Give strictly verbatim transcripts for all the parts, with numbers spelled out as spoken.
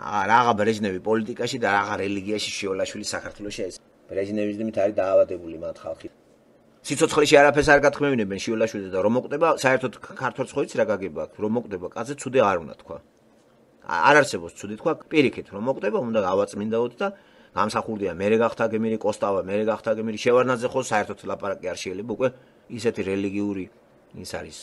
Raga Brezhnevi პოლიტიკაში და raga რელიგიაში შიოლაშვილი საქართველოში ეს Brezhnevis მით არის დაავადებული მათ ხალხი. Სიცოცხლეში არაფერს არ გათქმევინებენ შიოლაშვილზე და რომ მოკვდება საერთოდ ქართველს ხო იცი რა გაგება აქვს რომ მოკვდება კაცზე ცუდი არ უნდა თქვა. არ არსებობს ცუდი თქვა პირიქით რომ მოკვდება უნდა გავაწმინდაოთ და გამსახურდია მერე გახთა გემირი კოსტავა მერე გახთა გემირი შევარნაძე ხო საერთოდ ლაპარაკი არ შეიძლება უკვე ისეთი რელიგიური ის არის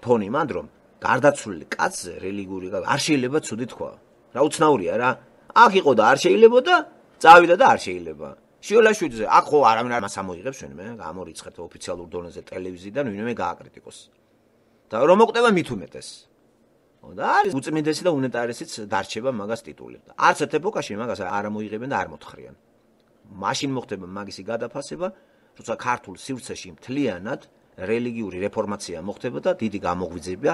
ფონი მანდ რომ გარდაცვლილი კაცზე რელიგიური არ შეიძლება ცუდი თქვა. რა უცნაურია რა აქ იყო და არ შეიძლება და წავიდა და არ შეიძლება. შიოლაშვილზე აქ ხო არავინ არ მას ამოიღებს ვინმე გამორიცხეთ ოფიციალურ დონეზე ტელევიზიიდან ვინმე გააკრიტიკოს. და რომ მოკვდება მით უმეტეს. და არის უწმინდესი და უნეტარესიც დარჩება მაგას ტიტული. არც ერთ ეპოქაში მაგას არ ამოიღებენ და არ მოთხრიან. მაშინ მოხდება მაგისი გადაფასება, როცა ქართულ სივრცეში მთლიანად რელიგიური რეფორმაცია მოხდება და დიდი გამოღვიძებია,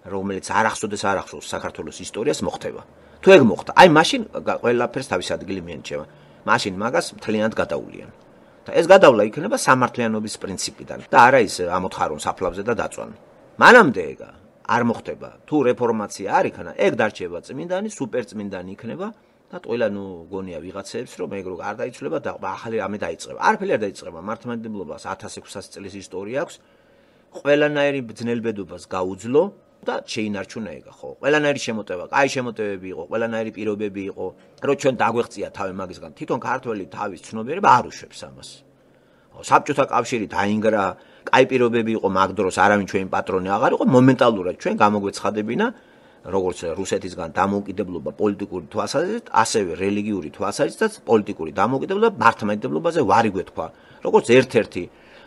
რომელიც არ ახსოვდეს არ ახსოვს საქართველოს ისტორიას მოხდება. თუ ეგ მოხდა, აი მაშინ ყველაფერს თავის ადგილი მიენიჭება. მაშინ მაგას მთლიანად გადაულიან. და ეს გადავლა იქნება სამართლიანობის პრინციპიდან და არა ის ამოთხარონ საფლავზე და დაწვან. მანამდე ეგა არ მოხდება. თუ რეფორმაცია არ იქნა, ეგ დარჩება წმინდანი, სუპერწმინდანი იქნება და ყველა ნუ გონია ვიღაცებს რომ ეგ რო არ დაიცვლება და ახალი რამე დაიწყება. არაფერი არ დაიწყება. მართლმადიდებლობას ათას ექვსასი წლის ისტორია აქვს. ყველანაირი ბძნელბედობას გაუძლო და შეინარჩუნა ეგა ხო. ყველანაირი შემოტევა, კაი შემოტევები იყო, ყველანაირი პირობები იყო, რომ ჩვენ დაგვეღწია თავი მაგისგან. თვითონ ქართველი თავის ცნობიერება არ უშვებს ამას. საბჭოთა კავშირი დაინგრა, კაი პირობები იყო მაგ დროს, არავინ ჩვენი პატრონი აღარ იყო, მომენტალურად ჩვენ გამოგვეცხადებინა, როგორც რუსეთისგან დამოუკიდებლობა პოლიტიკური თვალსაზრისით, ასევე რელიგიური თვალსაზრისით, პოლიტიკური დამოუკიდებლობა მართლმადიდებლობაზე ვარი გვეთქვა, როგორც ერთ-ერთი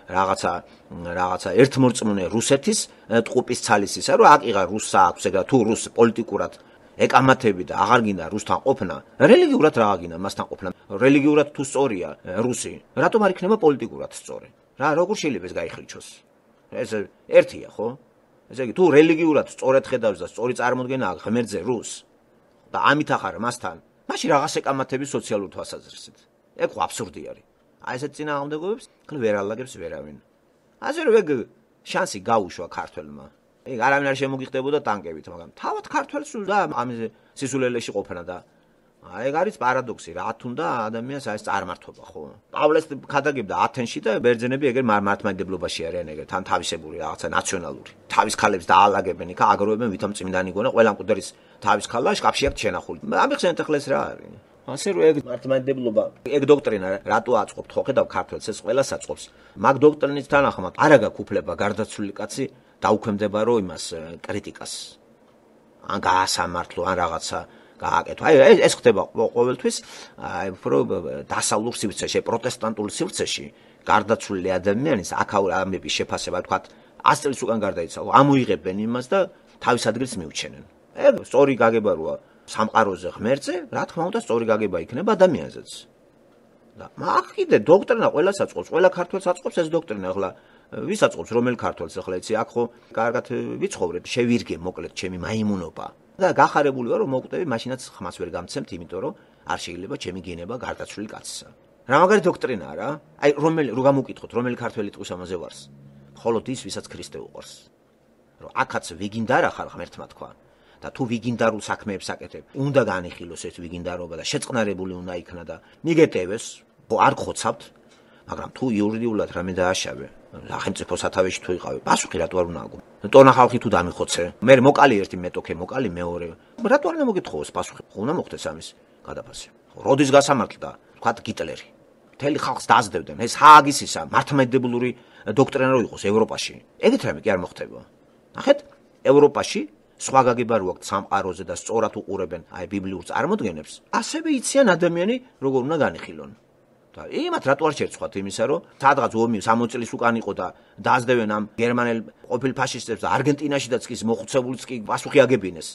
რაღაცა რაღაცა ერთმორწმუნე რუსეთის ტყუპის ცალისისა, რომ აკიღა რუსსა აქვს ეგა თუ რუს პოლიტიკურად ეკამათები და აღარ გინდა რუსთან ყოფნა, რელიგიურად რა გინდა მასთან ყოფნა, რელიგიურად თუ სწორია რუსი, რატომ არ იქნება პოლიტიკურად სწორი? რა როგორ შეიძლება ეს გაიხლიჩოს? ეს ერთია ხო? ესე იგი თუ რელიგიურად სწორად ხედავს და სწორი წარმოდგენა აქვს ღმერთზე რუს და ამით ახარ მასთან, მაშინ რაღაც ეკამათები სოციალურ თვალსაზრისით. ეგ ხო აბსურდი არის. აი ესეთ წინააღმდეგობებს ვერ ალაგებს ვერავინ. ასე რომ ეგ შანსი გაუშვა ქართველმა. ეგ არავინ არ შემოგიხდებოდა ტანკებით, მაგრამ თავად ქართველს და ამაზე სისულელეში ყოფნა და ეგ არის პარადოქსი, რა თუნდა ადამიანს აი ეს წარმართობა ხო? პავლეს ხადაგებდა ათენში და ბერძენები ეგერ მართლმადიდებლობაში არიან ეგერ თან თავისებური რაღაცა ნაციონალური. თავის ქალებს დაალაგებენ იქ აგროვებენ ვითომ წმინდანი გონა ყველა მკვდრის თავის ქალა შკაფში აქვს შენახული. ამიხსენეთ ახლა ეს რა არის? ასე რომ ეგ მართლმადიდებლობა, ეგ დოქტრინა რატო აწყობთ ხო ხედავ ქართველს ეს ყველას აწყობს. მაგ დოქტრინით თანახმად არა გაქვს უფლება გარდაცვლილი კაცი დაუქვემდება რო იმას კრიტიკას. ან გაასამართლო ან რაღაცა გააკეთო. აი ეს ხდება ყოველთვის აი უფრო დასავლურ სივრცეში, პროტესტანტულ სივრცეში გარდაცვლილი ადამიანის აქაურამების შეფასება თქვა ას წელს უკან გარდაიცვალა. ამოიღებენ იმას და თავის ადგილს მიუჩენენ. ეგ სწორი გაგება როა სამყაროზე ღმერთზე, რა თქმა უნდა, სწორი გაგება იქნება ადამიანზეც. და მაგ კიდე დოქტრინა ყველას აწყობს, ყველა ქართველს აწყობს ეს დოქტრინა, ახლა ვის აწყობს, რომელ ქართველს ახლა იცი, აქ ხო კარგად ვიცხოვრებ, შევირგე მოკლედ ჩემი მაიმუნობა. და გახარებული ვარ რომ მოკვდები, მაშინაც ხმას ვერ გამცემთ, იმიტომ რომ არ შეიძლება ჩემი გენება გარდაცვლილი კაცისა. რა მაგარი დოქტრინაა რა? აი რომელი რო გამოკითხოთ, რომელი ქართველი ტყვის ამაზე ვარს? მხოლოდ ის, ვისაც ქრისტე უყვარს. რომ აქაც ვიგინდარა ხარ ღმერთმა თქვა. და თუ ვიგინდარულ საქმეებს აკეთებ, უნდა განიხილოს ეს ვიგინდარობა და შეწყნარებული უნდა იქნა და მიგეტევეს, არ გხოცავთ, მაგრამ თუ იურიდიულად რამე დააშავე, სახელმწიფო სათავეში თუ იყავი, პასუხი რატო არ უნდა აგო? ტონა ხალხი თუ დამიხოცე, მე მოკალი ერთი მეტოქე მოკალი მეორე, რატო არ უნდა მოგეთხოვოს პასუხი? ხო უნდა მოხდეს ამის გადაფასება. როდის გასამართლდა, თქვათ გიტლერი. მთელი ხალხს დააზრდებდნენ, ეს ჰააგის ისა მართლმადიდებლური დოქტრინა რო იყოს ევროპაში. ეგეთ რამე კი არ მოხდება. ნახეთ, ევროპაში სხვა გაგება რო აქვს სამყაროზე და სწორად უყურებენ აი ბიბლიურ წარმოდგენებს, ასევე იციან ადამიანი როგორ უნდა განიხილონ. და იმათ რატო არ შეერცხვათ იმისა, რომ სადღაც ომი სამოცი წლის უკან იყო და დაასდევენ ამ გერმანელ ყოფილ ფაშისტებს და არგენტინაშიდაც კი მოხუცებულიც კი პასუხი აგებინეს.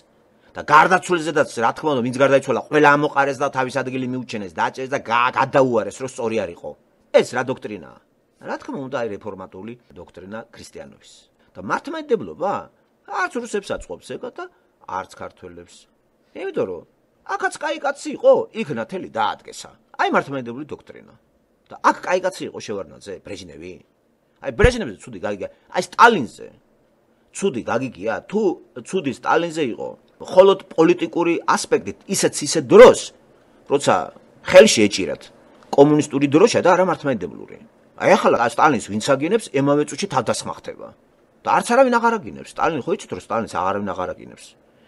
და გარდაცვლილზედაც რა თქმა უნდა, ვინც გარდაიცვალა, ყველა ამოყარეს და თავის ადგილი მიუჩენეს, დაჭერეს და გადაუარეს, რომ სწორი არ იყო. ეს რა დოქტრინაა? რა თქმა უნდა, აი რეფორმატული დოქტრინა ქრისტიანობის. და მართლმადიდებლობა არც რუსებს აწყობს ეგა და არც ქართველებს. იმიტომ რომ აქაც კაი კაცი იყო, იქ ნათელი დაადგესა. აი მართლმადიდებლური დოქტრინა. და აქ კაი კაცი იყო შევარდნაძე, ბრეჟნევი. აი ბრეჟნევზე ცუდი გაგიგია, აი სტალინზე ცუდი გაგიგია, თუ ცუდი სტალინზე იყო, მხოლოდ პოლიტიკური ასპექტით, ისეც ისეთ დროს, როცა ხელში ეჭირათ კომუნისტური დროშა და არა მართლმადიდებლური. აი ახლა სტალინს ვინც აგინებს, ემავე წუთში თავდასხმა ხდება. და არც არავინ აღარ აგინებს. სტალინი ხო იცით, რომ სტალინს აღარავინ აღარ აგინებს.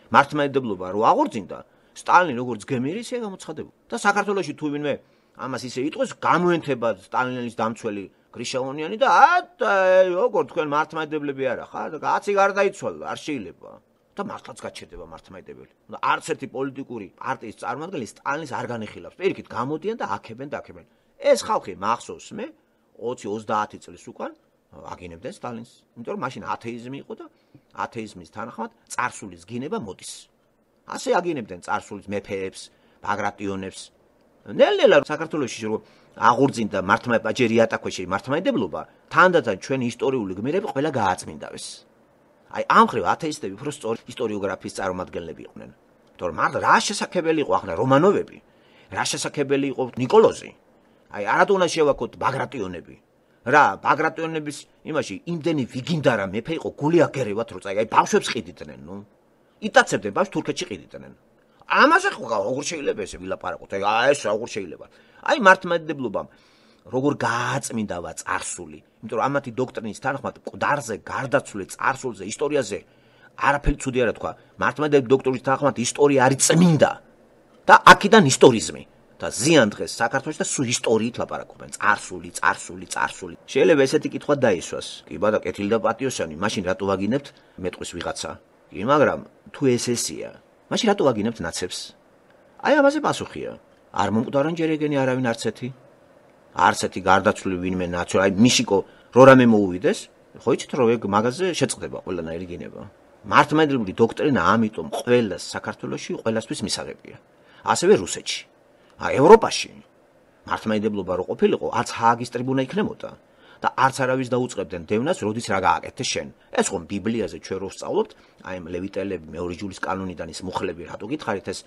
მართლმადიდებლობა რო აღორძინდა, სტალინი როგორც გემერი ისე გამოცხადებოდა. და საქართველოში თუ ვინმე ამას ისე იტყვის, გამოენთება სტალინის დამცველი გრიშაონიანი და აი როგორ თქვენ მართლმადიდებლები არა ხარ? კაცი გარდაიცვალა, არ შეიძლება. და მართლაც გაჩერდება მართლმადიდებელი. და არც ერთი პოლიტიკური პარტიის წარმომადგენელი სტალინს არ განეხილავს. პირიქით გამოდიან და აქებენ და აქებენ. ეს ხალხი მახსოვს მე ოცი ოცდაათი წლის უკან აგინებდნენ სტალინს. იმიტომ რომ მაშინ ათეიზმი იყო და ათეიზმის თანახმად წარსულის გინება მოდის. ასე აგინებდნენ წარსულის მეფეებს, ბაგრატიონებს. ნელ-ნელა საქართველოში რომ აღორძინდა მართლმადიდებლობა, ჯერ იატაკქვეშ მართლმადიდებლობა, თანდათან ჩვენი ისტორიული გმირები ყველა გააწმინდავეს. აი ამ ხრივ ათეისტები უფრო სწორი ისტორიოგრაფიის წარმომადგენლები იყვნენ. იმიტომ რომ მართლა რა შესაძლებელი იყო ახლა რომანოვები, რა შესაძლებელი იყო ნიკოლოზი. აი არათუ უნდა შევაქოთ ბაგრატიონები. რა ბაგრატიონების იმაში იმდენი ვიგინდა რა მეფე იყო გული აგერევათ რო წაი აი ბავშვებს ყიდიდნენ ნუ იტაცებდნენ ბავშვს თურქეთში ყიდიდნენ ამაზე ხო როგორ შეიძლება ესე ვილაპარაკოთ აი ეს როგორ შეიძლება აი მართლმადიდებლობამ როგორ გააწმინდავა წარსული იმიტომ რომ ამათი დოქტრინის თანახმად მკვდარზე გარდაცვლილ წარსულზე ისტორიაზე არაფერი ცუდი არა თქვა მართლმადიდებლობის დოქტრინის თანახმად ისტორია არის წმინდა და აქედან ისტორიზმი და ზიან დღეს საქართველოს და სულ ისტორიით ლაპარაკობენ წარსული წარსული წარსული შეიძლება ესეთი კითხვა დაისვას კი ბადა კეთილი და პატიოსანი მაშინ რატო ვაგინებთ მეტყვის ვიღაცა კი მაგრამ თუ ეს ესია მაშინ რატო ვაგინებთ ნაცებს აი ამაზე პასუხია არ მომკვდარან ჯერ ეგენი არავინ არც ერთი არც ერთი გარდაცვლილი ვინმე ნაცო აი მიშიკო რო რამე მოუვიდეს ხო იცით რომ ეგ მაგაზე შეწყდება ყველანაირი გინება მართლმადიდებლური დოქტრინა ამიტომ ყველა საქართველოში ყველასთვის მისაღებია ასევე რუსეთში ევროპაში მართლმადიდებლობა რო ყოფილიყო, არც ჰააგის ტრიბუნა იქნებოდა და არც არავის დაუწყებდნენ დევნას, როდის რა გააკეთე შენ. ეს ხომ ბიბლიაზე ჩვენ რო ვსწავლობთ, აი ამ ლევიტელები, მეორე ჯულის კანონიდან ის მუხლები რატო გითხარით, ეს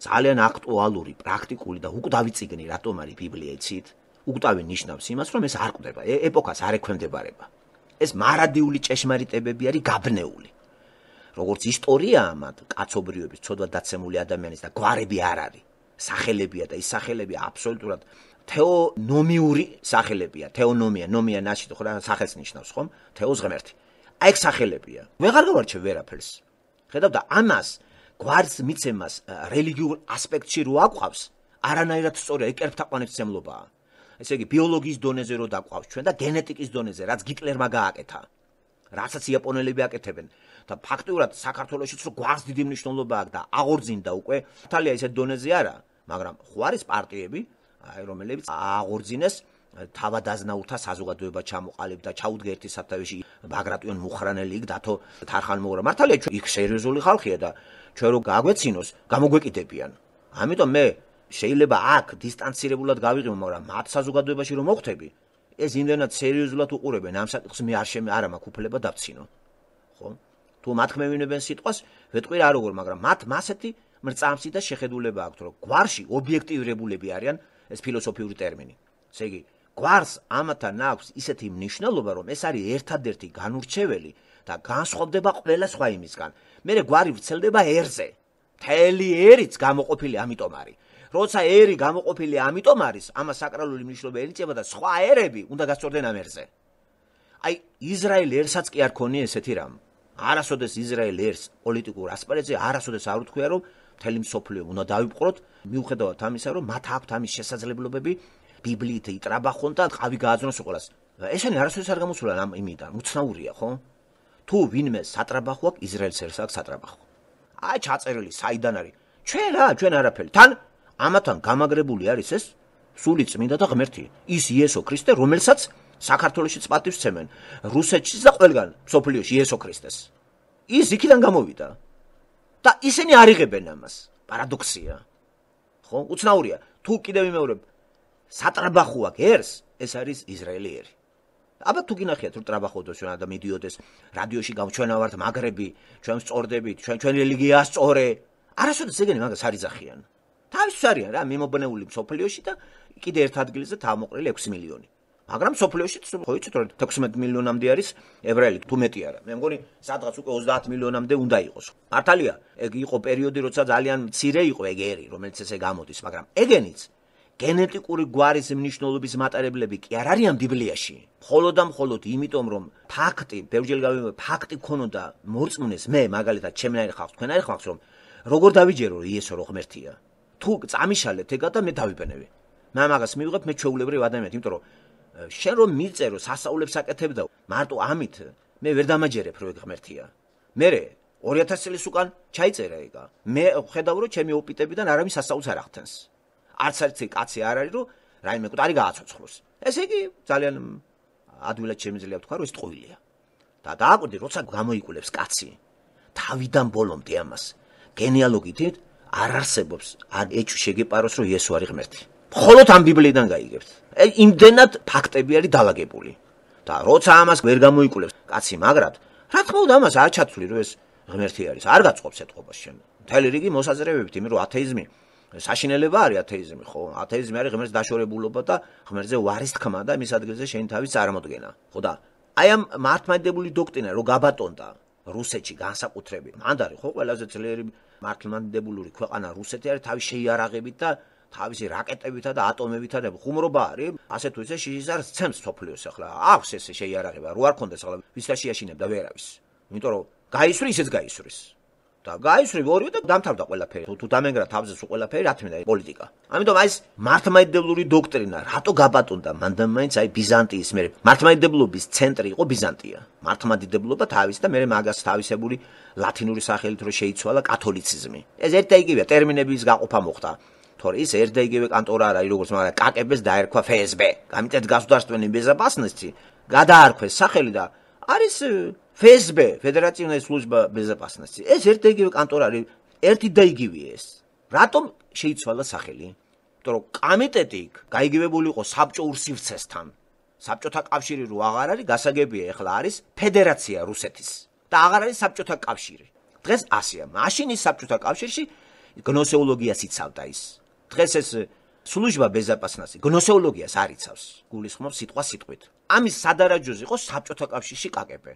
ძალიან აქტუალური, პრაქტიკული და უკვდავი წიგნი რატომ არის ბიბლია იცით? უკვდავი ნიშნავს იმას, რომ ეს არ კვდება, ეპოქას არ ექვემდებარება. ეს მარადიული ჭეშმარიტებები არის გაბნეული. როგორც ისტორია ამათ, კაცობრიობის, ცოდვა დაცემული ადამიანის და გვარები არ არის. სახელებია და ის სახელები აბსოლუტურად თეონომიური სახელებია თეონომია ნომია ნაშიდო ხო რა სახელს ნიშნავს ხომ თეოს ღმერთი აი ეს სახელებია ვეღარ გავარჩევ ვერაფერს ხედავ და ამას გვარის მიცემას რელიგიურ ასპექტში რო აყვავს არანაირად სწორია ეკერფთაყვანისმცემლობაა ესე იგი ბიოლოგიის დონეზე რო დაყვავს ჩვენ და გენეტიკის დონეზე რაც გიტლერმა გააკეთა რასაც იაპონელები აკეთებენ და ფაქტურად საქართველოშიც რო გვარს დიდი მნიშვნელობა აქვს და აღორძინდა უკვე თალია ისეთ დონეზე არა მაგრამ ხო არის პარტიები აი რომელებიც აღორძინეს თავადაზნაურთა საზოგადოება ჩამოყალიბდა ჩაუდგა ერთი სათავეში ბაგრატიონ მუხრანელი იქ დათო თარხანმოურა მართალია ჩვენ იქ სერიოზული ხალხია და ჩვენ რო გაგვეცინოს გამოგვეკიდებიან ამიტომ მე შეიძლება აქ დისტანცირებულად გავიღიმო მაგრამ მათ საზოგადოებაში რომ მოხვდები ეს იმდენად სერიოზულად უყურებენ ამ საკითხს მე არ შემე არა მაქვს უფლება დავცინო ხო თუ მათ მევინებენ სიტყვას ვეტყვი რა როგორ მაგრამ მათ მასეთი მრწამსი და შეხედულება აქვთ რომ გვარში ობიექტიურებულები არიან ეს ფილოსოფიური ტერმინი ესე იგი გვარს ამათან აქვს ისეთი მნიშვნელობა რომ ეს არის ერთადერთი განურჩეველი და განსხვავდება ყველა სხვა იმისგან მე გვარი ვრცელდება ერზე მთელი ერიც გამოყოფილი ამიტომ არის როცა ერი გამოყოფილი ამიტომ არის ამას საკრალური მნიშვნელობა ენიჭება და სხვა ერები უნდა გასწორდნენ ამ ერზე აი ისრაელ ერსაც კი არ ქონია ესეთი რამ არასოდეს ისრაელ ერს პოლიტიკურ ასპარეზზე არასოდეს არ უთქვია რომ მთელი მსოფლიო უნდა დავიპყროთ მიუხედავად ამისა რომ მათ აქვთ ამის შესაძლებლობები ბიბლიით იტრაბახონ და ყავი გააძნოს ყველას ესენი არასოდეს არ გამოსულან ამ იმიდან უცნაურია ხო თუ ვინმე სატრაბახო აქვს ისრაელს ერს აქვს სატრაბახო აი ჩაწერილი საიდან არის ჩვენ რა ჩვენ არაფერი თან ამათან გამაგრებული არის ეს სული წმინდა და ღმერთი ის იესო ქრისტე რომელსაც საქართველოშიც პატივს ცემენ რუსეთშიც და ყველგან მსოფლიოში იესო ქრისტეს ის იქიდან გამოვიდა და ისინი არიღებენ ამას პარადოქსია ხო უცნაურია თუ კიდევ ვიმეორებ სატრაბახო აქვს ერს ეს არის ისრაელი ერი აბა თუ გინახიათ რომ ტრაბახოდოს ჩვენ და მიდიოდეს რადიოში გავჩვენავართ მაგრები ჩვენ სწორდებით ჩვენ ჩვენ რელიგია სწორე არასოდეს ეგენი მაგას არ იძახიან თავის არიან რა მიმობნეული მსოფლიოში და კიდე ერთ ადგილზე თავმოყრილი ექვსი მილიონი მაგრამ სოფლიოში ხო იცით რომ თექვსმეტ მილიონამდე არის ებრაელი, თუ მეტი არა. მე მგონი სადღაც უკვე ოცდაათ მილიონამდე უნდა იყოს. მართალია, ეგ იყო პერიოდი, როცა ძალიან მცირე იყო ეგ ერი, რომელიც ესე გამოდის, მაგრამ ეგენიც გენეტიკური გვარის მნიშვნელობის მატარებლები კი არ არიან ბიბლიაში. მხოლოდ და მხოლოდ იმიტომ, რომ ფაქტი, ბევრჯერ გავიმეორე, ფაქტი ქონოდა მორწმუნეს, მე მაგალითად ჩემნაირ ხალხს, თქვენაირ ხალხს, რომ როგორ დავიჯერო იესო რო ღმერთია. თუ წამიშალეთ ეგა და მე დავიბენები. მე მაგას მივიღებ მე ჩვეულებრივ ადამიანად, იმიტომ რომ შენ რომ მიწერო სასწაულებს აკეთებდა, მარტო ამით მე ვერ დამაჯერებ რომ ეგ ღმერთია. მე ორი ათასი წლის უკან ჩაიწერა ეგა. მე ხედავ რომ ჩემი ოპიტებიდან არავის სასწაულს არ ახდენს. არც ერთი კაცი არ არის რომ რაიმე კუტარი გააცოცხლოს. ესე იგი ძალიან ადვილად შემიძლია ვთქვა რომ ეს ტყუილია. და დააკვირდი როცა გამოიკულებს კაცი თავიდან ბოლომდე ამას გენეალოგით არ არსებობს არ ეჭვ შეგეპაროს რომ იესო არის ღმერთი. მხოლოდ ამ ბიბლიიდან გაიგებთ. იმდენად ფაქტები არის დაალაგებული. და როცა ამას ვერ გამოიკულებს კაცი მაგრად, რა თქმა უნდა ამას არ ჩათვლი რომ ეს ღმერთი არის. არ გაწყობს ეთყობას შენ. მთელი რიგი მოსაზრებებით, იმიტომ რომ ათეიზმი საშინელება არის ათეიზმი, ხო? ათეიზმი არის ღმერთს დაშორებულობა და ღმერთზე ვარის თქმა და მის ადგილზე შენი თავის წარმოდგენა. ხო და აი ამ მართლმადიდებლური დოქტრინა რო გაბატონდა რუსეთში განსაკუთრებით. მანდ არის ხო ყველაზე ძლიერი მართლმადიდებლური ქვეყანა რუსეთი არის თავის შეიარაღებით და თავისი რაკეტებითა და ატომებითა და ხუმრობა არის. ასე თუ ისე შიჟარს ცემს სოფლიოს ახლა. აქვს ეს შეიარაღება, რო არ კონდეს ახლა ვის და შეაშინებდა ვერავის. იმიტომ რომ გაისვრი ისეც გაისვრის. და გაისვრი ორივე და დამთავრდა ყველაფერი. თუ დამენგრა თავზე სულ ყველაფერი, რა თქმა უნდა, პოლიტიკა. ამიტომ აი ეს მართლმადიდებლური დოქტრინა რატო გაბატონდა მანდ მაინც აი ბიზანტიის მერე. მართლმადიდებლობის ცენტრი იყო ბიზანტია. მართლმადიდებლობა თავის და მერე მაგას თავისებური ლათინური სახელით რო შეიცვალა კათოლიციზმი. ეს ერთ და იგივეა, ტერმინების გაყოფა მოხდა. თორე ის ერთ და იგივე კანტორა არ არის, როგორც მაგრამ კაკებეს დაერქვა эф эс бэ. Комитет государственной безопасности გადაარქვეს სახელი და არის эф эс бэ, Федеративная служба безопасности. ეს ერთ და იგივე კანტორა არის, ერთი და იგივეა ეს. რატომ შეიცვალა სახელი? იმიტომ რომ კომიტეტი გაიგივებული იყო საბჭოურ სივრცესთან. საბჭოთა კავშირი რო აღარ არის, გასაგებია ეხლა არის ფედერაცია რუსეთის და აღარ არის საბჭოთა კავშირი. დღეს ასია. მაშინ ის საბჭოთა კავშირში გნოსეოლოგიას იცავდა ის. დღეს ეს служба безопасности გნოსეოლოგიას არ იცავს. გულისხმობს სიტყვა სიტყვით. ამის სადარაჯოზე იყო საბჭოთა კავშირში კაკებე.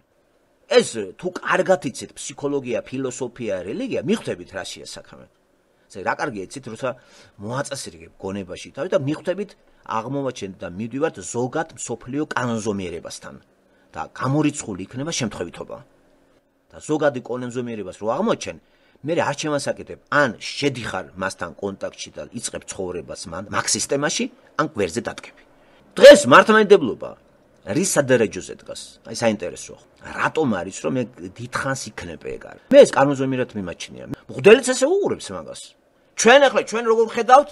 ეს თუ კარგად იცით ფსიქოლოგია, ფილოსოფია, რელიგია, მიხვდებით რა შეა საქმე. ესე რა კარგია იცით, როცა მოაწესრიგებ გონებაში თავი და მიხვდებით აღმოვაჩენთ და მივდივართ ზოგად მსოფლიო კანონზომიერებასთან და გამორიცხული იქნება შემთხვევითობა. და ზოგადი კანონზომიერებას რო აღმოჩენ, მე არ შემასაკეთებ, ან შედიხარ მასთან კონტაქტში და იწყებ ცხოვრებას მან მაგ სისტემაში, ან გვერდზე დადგები. დღეს მართლმადიდებლობა რის სადარაჯოზე დგას? აი საინტერესოა. რატომ არის რომ მე დიდხანს იქნებ ეგ არის? მე ეს კანონზომიერად მიმაჩნია. მღვდელიც ესე უყურებს მაგას. ჩვენ ახლა ჩვენ როგორ ხედავთ?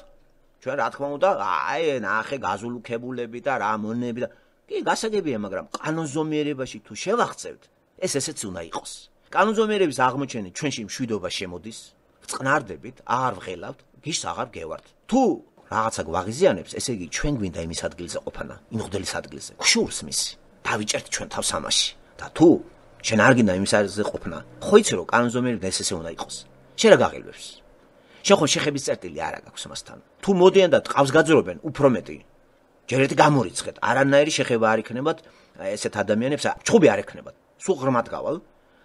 ჩვენ რა თქმა უნდა, აი ნახე გაზულუქებულები და რა მონები და კი გასაგებია, მაგრამ კანონზომიერებაში თუ შევახცევთ, ეს ესეც უნდა იყოს. კანონზომიერების აღმოჩენა ჩვენში მშვიდობა შემოდის, წყნარდებით, აღარ ვღელავთ, გიშს აღარ გევართ. თუ რაღაცა გვაღიზიანებს, ესე იგი ჩვენ გვინდა იმის ადგილზე ყოფნა, იმ მღვდელის ადგილზე. გშურს მისი. დავიჭერთ ჩვენ თავს ამაში. და თუ შენ არ გინდა იმის ადგილზე ყოფნა, ხო იცი რომ კანონზომიერება ესე უნდა იყოს. შენ რა გაღელვებს? შენ ხო შეხების წერტილი არ აქვს მასთან. თუ მოდიან და ტყავს გაძრობენ, უფრო მეტი. ჯერ ერთი გამორიცხეთ, არანაირი შეხება არ იქნებათ ესეთ ადამიანებს, ჩხუბი არ ექნებათ. სულ ღრმად გავალ.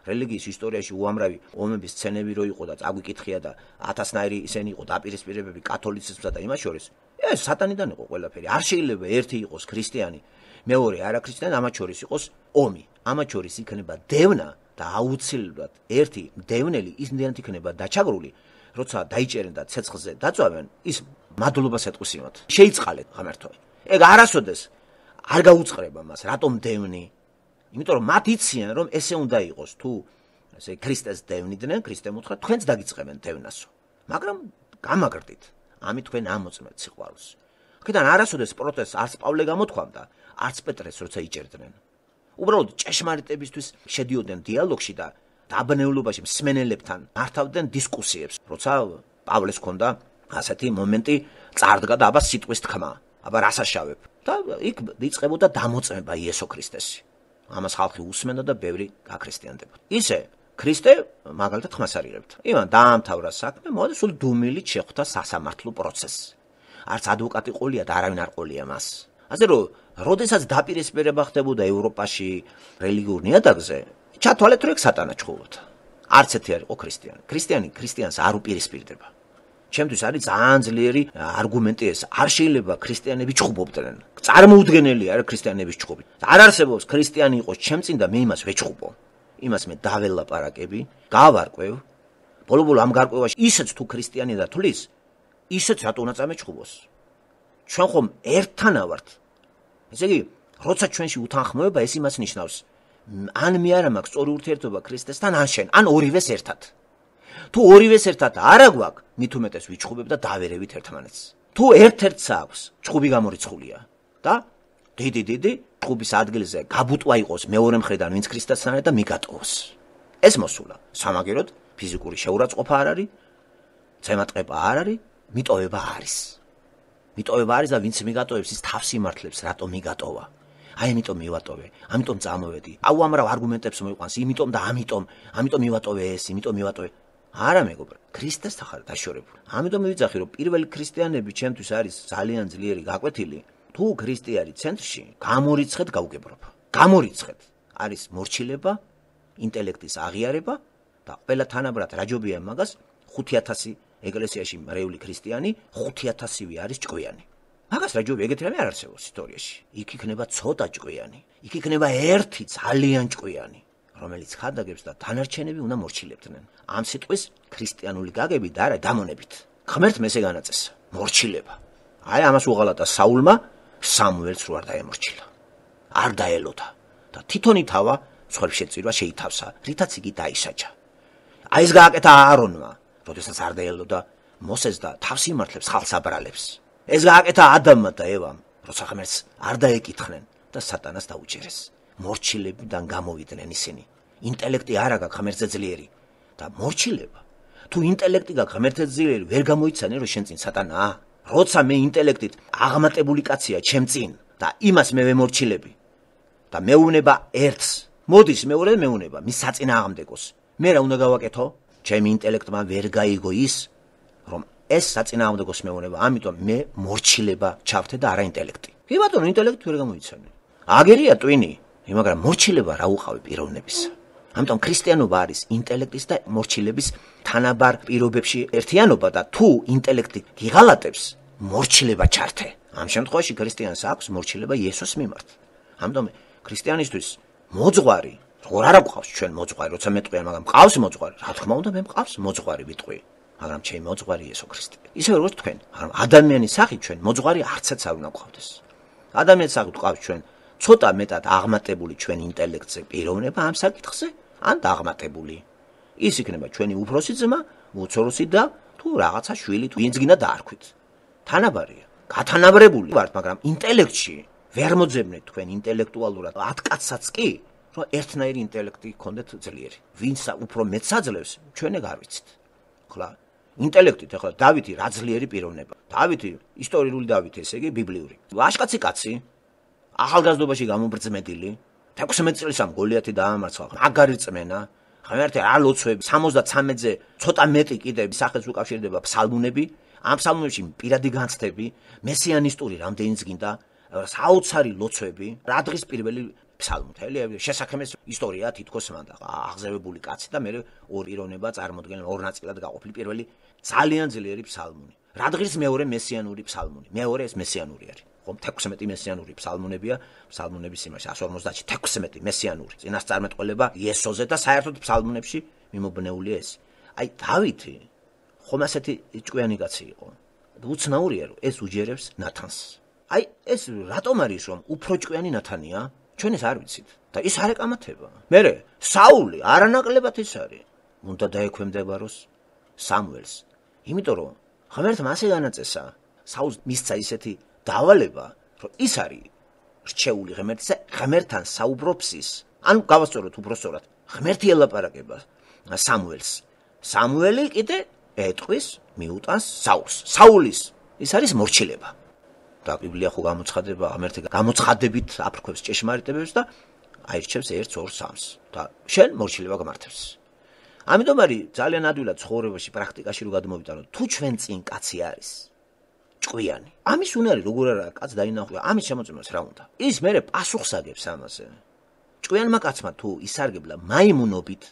რელიგიის ისტორიაში უამრავი ომების სცენები რო იყო და წაგვიკითხია და ათასნაირი ისენი იყო დაპირისპირებები კათოლიციზმსა და იმას შორის. ეს სატანიდან იყო ყველაფერი. არ შეიძლება ერთი იყოს ქრისტიანი, მეორე არაქრისტიანი, ამათ შორის იყოს ომი. ამათ შორის იქნება დევნა და აუცილებლად ერთი დევნელი ისინდანთ იქნება დაჩაგრული, როცა დაიჭერენ და ცეცხლზე დაწვავენ, ის მადლობას ეტყვის იმათ. შეიწყალეთ ღმერთო. ეგ არასოდეს არ გაუწყრება მას, რატომ დევნი? იმიტომ რომ მათ იციან რომ ესე უნდა იყოს თუ ესე ქრისტეს დევნიდნენ, ქრისტემ უთხრა თქვენც დაგიწყებენ დევნასო. მაგრამ გამაგრდით, ამით თქვენ ამოწმეთ სიყვარულს. აქედან არასოდეს პროტესტს არც პავლე გამოთქვამდა, არც პეტრეს როცა იჭერდნენ. უბრალოდ ჭეშმარიტებისთვის შედიოდნენ დიალოგში და დაბნეულობაში მსმენელებთან მართავდნენ დისკუსიებს. როცა პავლეს ჰქონდა ასეთი მომენტი, წარდგა და აბა სიტყვის თქმა, აბა რასაშავებ და იქ იწყებოდა დამოწმება იესო ქრისტესი. ამას ხალხი უსმენდა და ბევრი გაქრისტიანდებოდა. ისე ქრისტე მაგალითად ხმას არიღებდა. იმან დაამთავრა საქმე, მოდი სულ დუმილით შეხვდა სასამართლო პროცესს. არც ადვოკატი ყოლია და არავინ არ ყოლია მას. ასე რომ როდესაც დაპირისპირება ხდებოდა ევროპაში რელიგიურ ნიადაგზე, ჩათვალეთ რომ ეგ სატანა ჭხულობდა. არც ერთი არ იყო ქრისტიანი. ქრისტიანი ქრისტიანს არ უპირისპირდება. ჩემთვის არის ძალიან ძლიერი არგუმენტი ეს. არ შეიძლება ქრისტიანები ჭხუბობდნენ. წარმოუდგენელია რა ქრისტიანების ჭხუბი. არ არსებობს ქრისტიანი იყოს ჩემ წინ და მე იმას ვეჭხუბო. იმას მე დაველაპარაკები, გავარკვევ. ბოლო-ბოლო ამ გარკვევაში ისეც თუ ქრისტიანი და თulis, ისეც რატო უნდა წამეჭხუბოს? ჩვენ ხომ ერთთანა ვართ. ესე იგი, როცა ჩვენში უთანხმოება ეს იმას ნიშნავს, ან მე არა მაქვს სწორი ურთიერთობა ქრისტესთან, ან შენ, ან ორივეს ერთად. თუ ორივეს ერთად არ აგვაქვს, მით უმეტეს ვიჭხუბებ და დავერევით ერთმანეთს. თუ ერთ-ერთს აქვს, ჭხუბი გამორიცხულია და დიდი დიდი ჭხუბის ადგილზე გაბუტვა იყოს მეორე მხრიდან ვინც ქრისტესთან არის და მიგატოვოს. ეს მოსულა სამაგეროდ ფიზიკური შეურაცხყოფა არ არის, ცემატყება არ არის, მიტოვება არის. მიტოვება არის და ვინც მიგატოვებს ის თავს იმართლებს, რატომ მიგატოვა. აი ამიტომ მივატოვე, ამიტომ წამოვედი. აუ ამრავ არგუმენტებს მოიყვანს, იმიტომ და ამიტომ, ამიტომ მივატოვე ეს, იმიტომ მივატოვე. არა მეგობრებო, ქრისტესთან ხარ დაშორებული. ამიტომ მივიძახი რომ პირველი ქრისტიანები ჩემთვის არის ძალიან ძლიერი გაკვეთილი. თუ ქრისტე არის ცენტრში, გამორიცხეთ გაუგებრობა. გამორიცხეთ არის მორჩილება, ინტელექტის აღიარება და ყველა თანაბრად რაჯობია მაგას ხუთი ათასი ეკლესიაში მრევლი ქრისტიანი, ხუთი ათასივე არის ჭკვიანი. მაგას რაჯობია, ეგეთი რამე არ არსებობს ისტორიაში. იქ იქნება ცოტა ჭკვიანი, იქ იქნება ერთი ძალიან ჭკვიანი, რომელიც ხადაგებს და დანარჩენები უნდა მორჩილებდნენ. ამ სიტყვის ქრისტიანული გაგებით და არა დამონებით. ღმერთმა ესე განაწესა, მორჩილება. აი ამას უღალატა საულმა, სამუელს რო არ დაემორჩილა. არ დაელოდა და თვითონი თავა სხვებს შეწირვა შეითავსა, რითაც იგი დაისაჯა. აი ეს გააკეთა აარონმა, როდესაც არ დაელოდა მოსეს და თავს იმართლებს ხალხს აბრალებს. ეს გააკეთა ადამმა და ევამ, როცა ღმერთს არ დაეკითხნენ და სატანას დაუჭერეს. მორჩილებიდან გამოვიდნენ ისინი. ინტელექტი არ აქვს ღმერთზე ძლიერი და მორჩილება. თუ ინტელექტი გაქვს ღმერთზე ძლიერი, ვერ გამოიცანე რომ შენ წინ სატანაა. როცა მე ინტელექტით აღმატებული კაცია ჩემ წინ და იმას მე ვემორჩილები და მეუნება ერთს, მოდის მეორე მეუნება მის საწინააღმდეგოს. მე რა უნდა გავაკეთო? ჩემი ინტელექტმა ვერ გაიგო ის, რომ ეს საწინააღმდეგოს მეუნება, ამიტომ მე მორჩილება ჩავთე და არა ინტელექტი. კი ბატონო, ინტელექტი ვერ გამოიცანე. აგერია ტვინი, მაგრამ მორჩილება რა უყავი პიროვნების. ამიტომ ქრისტიანობა არის ინტელექტის და მორჩილების თანაბარ პირობებში ერთიანობა და თუ ინტელექტი გიღალატებს, მორჩილება ჩართე. ამ შემთხვევაში ქრისტიანს აქვს მორჩილება იესოს მიმართ. ამიტომ ქრისტიანისთვის მოძღვარი, როგორ არ აქვს ჩვენ მოძღვარი, როცა მეტყვიან, მაგრამ მყავს მოძღვარი. რა თქმა უნდა, მე მყავს მოძღვარი ვიტყვი, მაგრამ ჩემი მოძღვარი იესო ქრისტე. ისე როგორც თქვენ, მაგრამ ადამიანის სახით ჩვენ მოძღვარი არცაც არ უნდა გყავდეს. ადამიანის სახით გყავს ჩვენ ცოტა მეტად აღმატებული ჩვენ ინტელექტზე პიროვნება ამ საკითხზე, ან დაღმატებული. ის იქნება ჩვენი უფროსი ძმა, უცოროსი და თუ რაღაცა შვილი თუ ვინც გინდა დაარქვით. თანაბარია, გათანაბრებული ვართ, მაგრამ ინტელექტში ვერ მოძებნეთ თქვენ ინტელექტუალურად ათ კაცსაც კი, რომ ერთნაირი ინტელექტი გქონდეთ ძლიერი. ვინც უფრო მეტს აძლევს, ჩვენ ეგ არ ვიცით. ხლა, ინტელექტით ახლა დავითი რა ძლიერი პიროვნება. დავითი ისტორიული დავითი, ესე იგი ბიბლიური. აშკაცი კაცი, ახალგაზრდობაში გამობრძმედილი, თექვსმეტ წელს ამ გოლიათი დაამარცხა, მაგარი წმენა, ღმერთი რა ლოცვები, სამოცდათრამეტზე ცოტა მეტი კიდე სახელს უკავშირდება ფსალმუნები, ამ ფსალმუნებში პირადი განცდები, მესიანისტური რამდენიც გინდა, საოცარი ლოცვები, რა დღის პირველი ფსალმუნი, შესაქმეს ისტორია თითქოს მანდა, აღზევებული კაცი და მე ორი პიროვნება წარმოდგენილი ორ ნაწილად გაყოფილი პირველი ძალიან ძლიერი ფსალმუნი. რა დღის მეორე მესიანური ფსალმუნი, მეორე ეს მესიანური არის. ხომ თექვსმეტი მესიანური ფსალმუნებია, ფსალმუნების იმაში εκατს ორმოცდაათი თექვსმეტი მესიანური. წინასწარმეტყველება იესოზე და საერთოდ ფსალმუნებში მიმობნეულია ეს. აი დავითი ხომ ასეთი ჭკვიანი კაცი იყო. უცნაურია რომ ეს უჯერებს ნათანს. აი ეს რატომ არის რომ უფრო ჭკვიანი ნათანია? ჩვენ ეს არ ვიცით და ის არ ეკამათება. მერე საული არანაკლებად ის არის. უნდა დაექვემდებაროს სამუელს. იმიტომ რომ ღმერთმა ასე განაწესა, საულს მისცა ისეთი დავალება, რომ ის არის რჩეული ღმერთისა, ღმერთთან საუბრობს ის. ანუ გავასწოროთ უბრალოდ, ღმერთი ელაპარაკება სამუელს. სამუელი კიდე ეტყვის, მიუტანს საულს. საულის ის არის მორჩილება. და ბიბლია ხო გამოცხადება, ღმერთი გამოცხადებით აფრქვევს ჭეშმარიტებებს და აირჩევს ერთს, ორს, სამს და შენ მორჩილება გამართებს. ამიტომ არის ძალიან ადვილად ცხოვრებაში, პრაქტიკაში რო გადმოვიტანოთ, თუ ჩვენ წინ კაცი არის, ჭკვიანი. ამის უნარი როგორ არა კაც დაინახვა, ამის შემოწმებას რა უნდა? ის მერე პასუხს აგებს ამაზე. ჭკვიანმა კაცმა თუ ისარგებლა მაიმუნობით,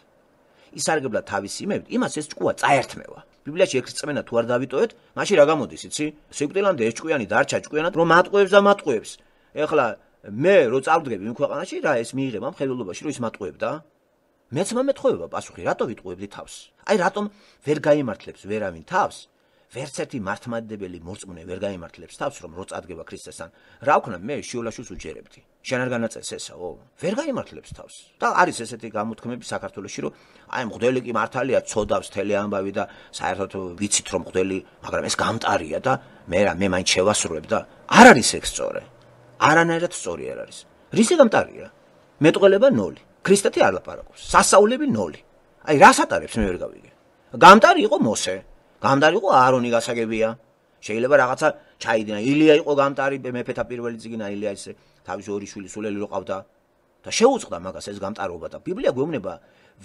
ისარგებლა თავის იმებით, იმას ეს ჭკუა წაერთმევა. ბიბლიაში ეგ რწმენა თუ არ დავიტოვეთ, მაშინ რა გამოდის, იცი? სიკვდილამდე ეს ჭკვიანი დარჩა ჭკვიანად, რომ მატყუებს და მატყუებს. ეხლა მე რო წავდგები იმ ქვეყანაში, რა ეს მიიღება მხედველობაში, რომ ის მატყუებდა? მეც მომეთხოვება პასუხი, რატო ვიტყუებდი თავს? აი რატომ ვერ გაიმართლებს ვერავინ თავს? ვერც ერთი მართლმადიდებელი მორწმუნე ვერ გაიმართლებს თავს, რომ რო წადგება ქრისტესთან. რა ვქნა, მე შიოლაშვილს უჯერებდი. შენ არ განაწეს ესაო? ვერ გაიმართლებს თავს. და არის ესეთი გამოთქმები საქართველოში, რომ აი მღვდელი კი მართალია, ცოდავს თელი ამბავი და საერთოდ ვიცით რომ მღვდელი, მაგრამ ეს გამტარია და მე რა მე მაინც შევასრულებ და არ არის ეგ სწორი. არანაირად სწორი არ არის. რისი გამტარია? მეტყველება ნული. ქრისტეთი არ ლაპარაკობს. სასაულები ნული. აი რას ატარებს მე ვერ გავიგე. გამტარი იყო მოსე. გამტარი იყო აარონი გასაგებია. შეიძლება რაღაცა ჩაიდინა. ილია იყო გამტარი, მეფეთა პირველი წიგნა ილია ესე თავის ორი შვილი სულელი რო ყავდა და შეუწყდა მაგას ეს გამტარობა და ბიბლია გვეუბნება,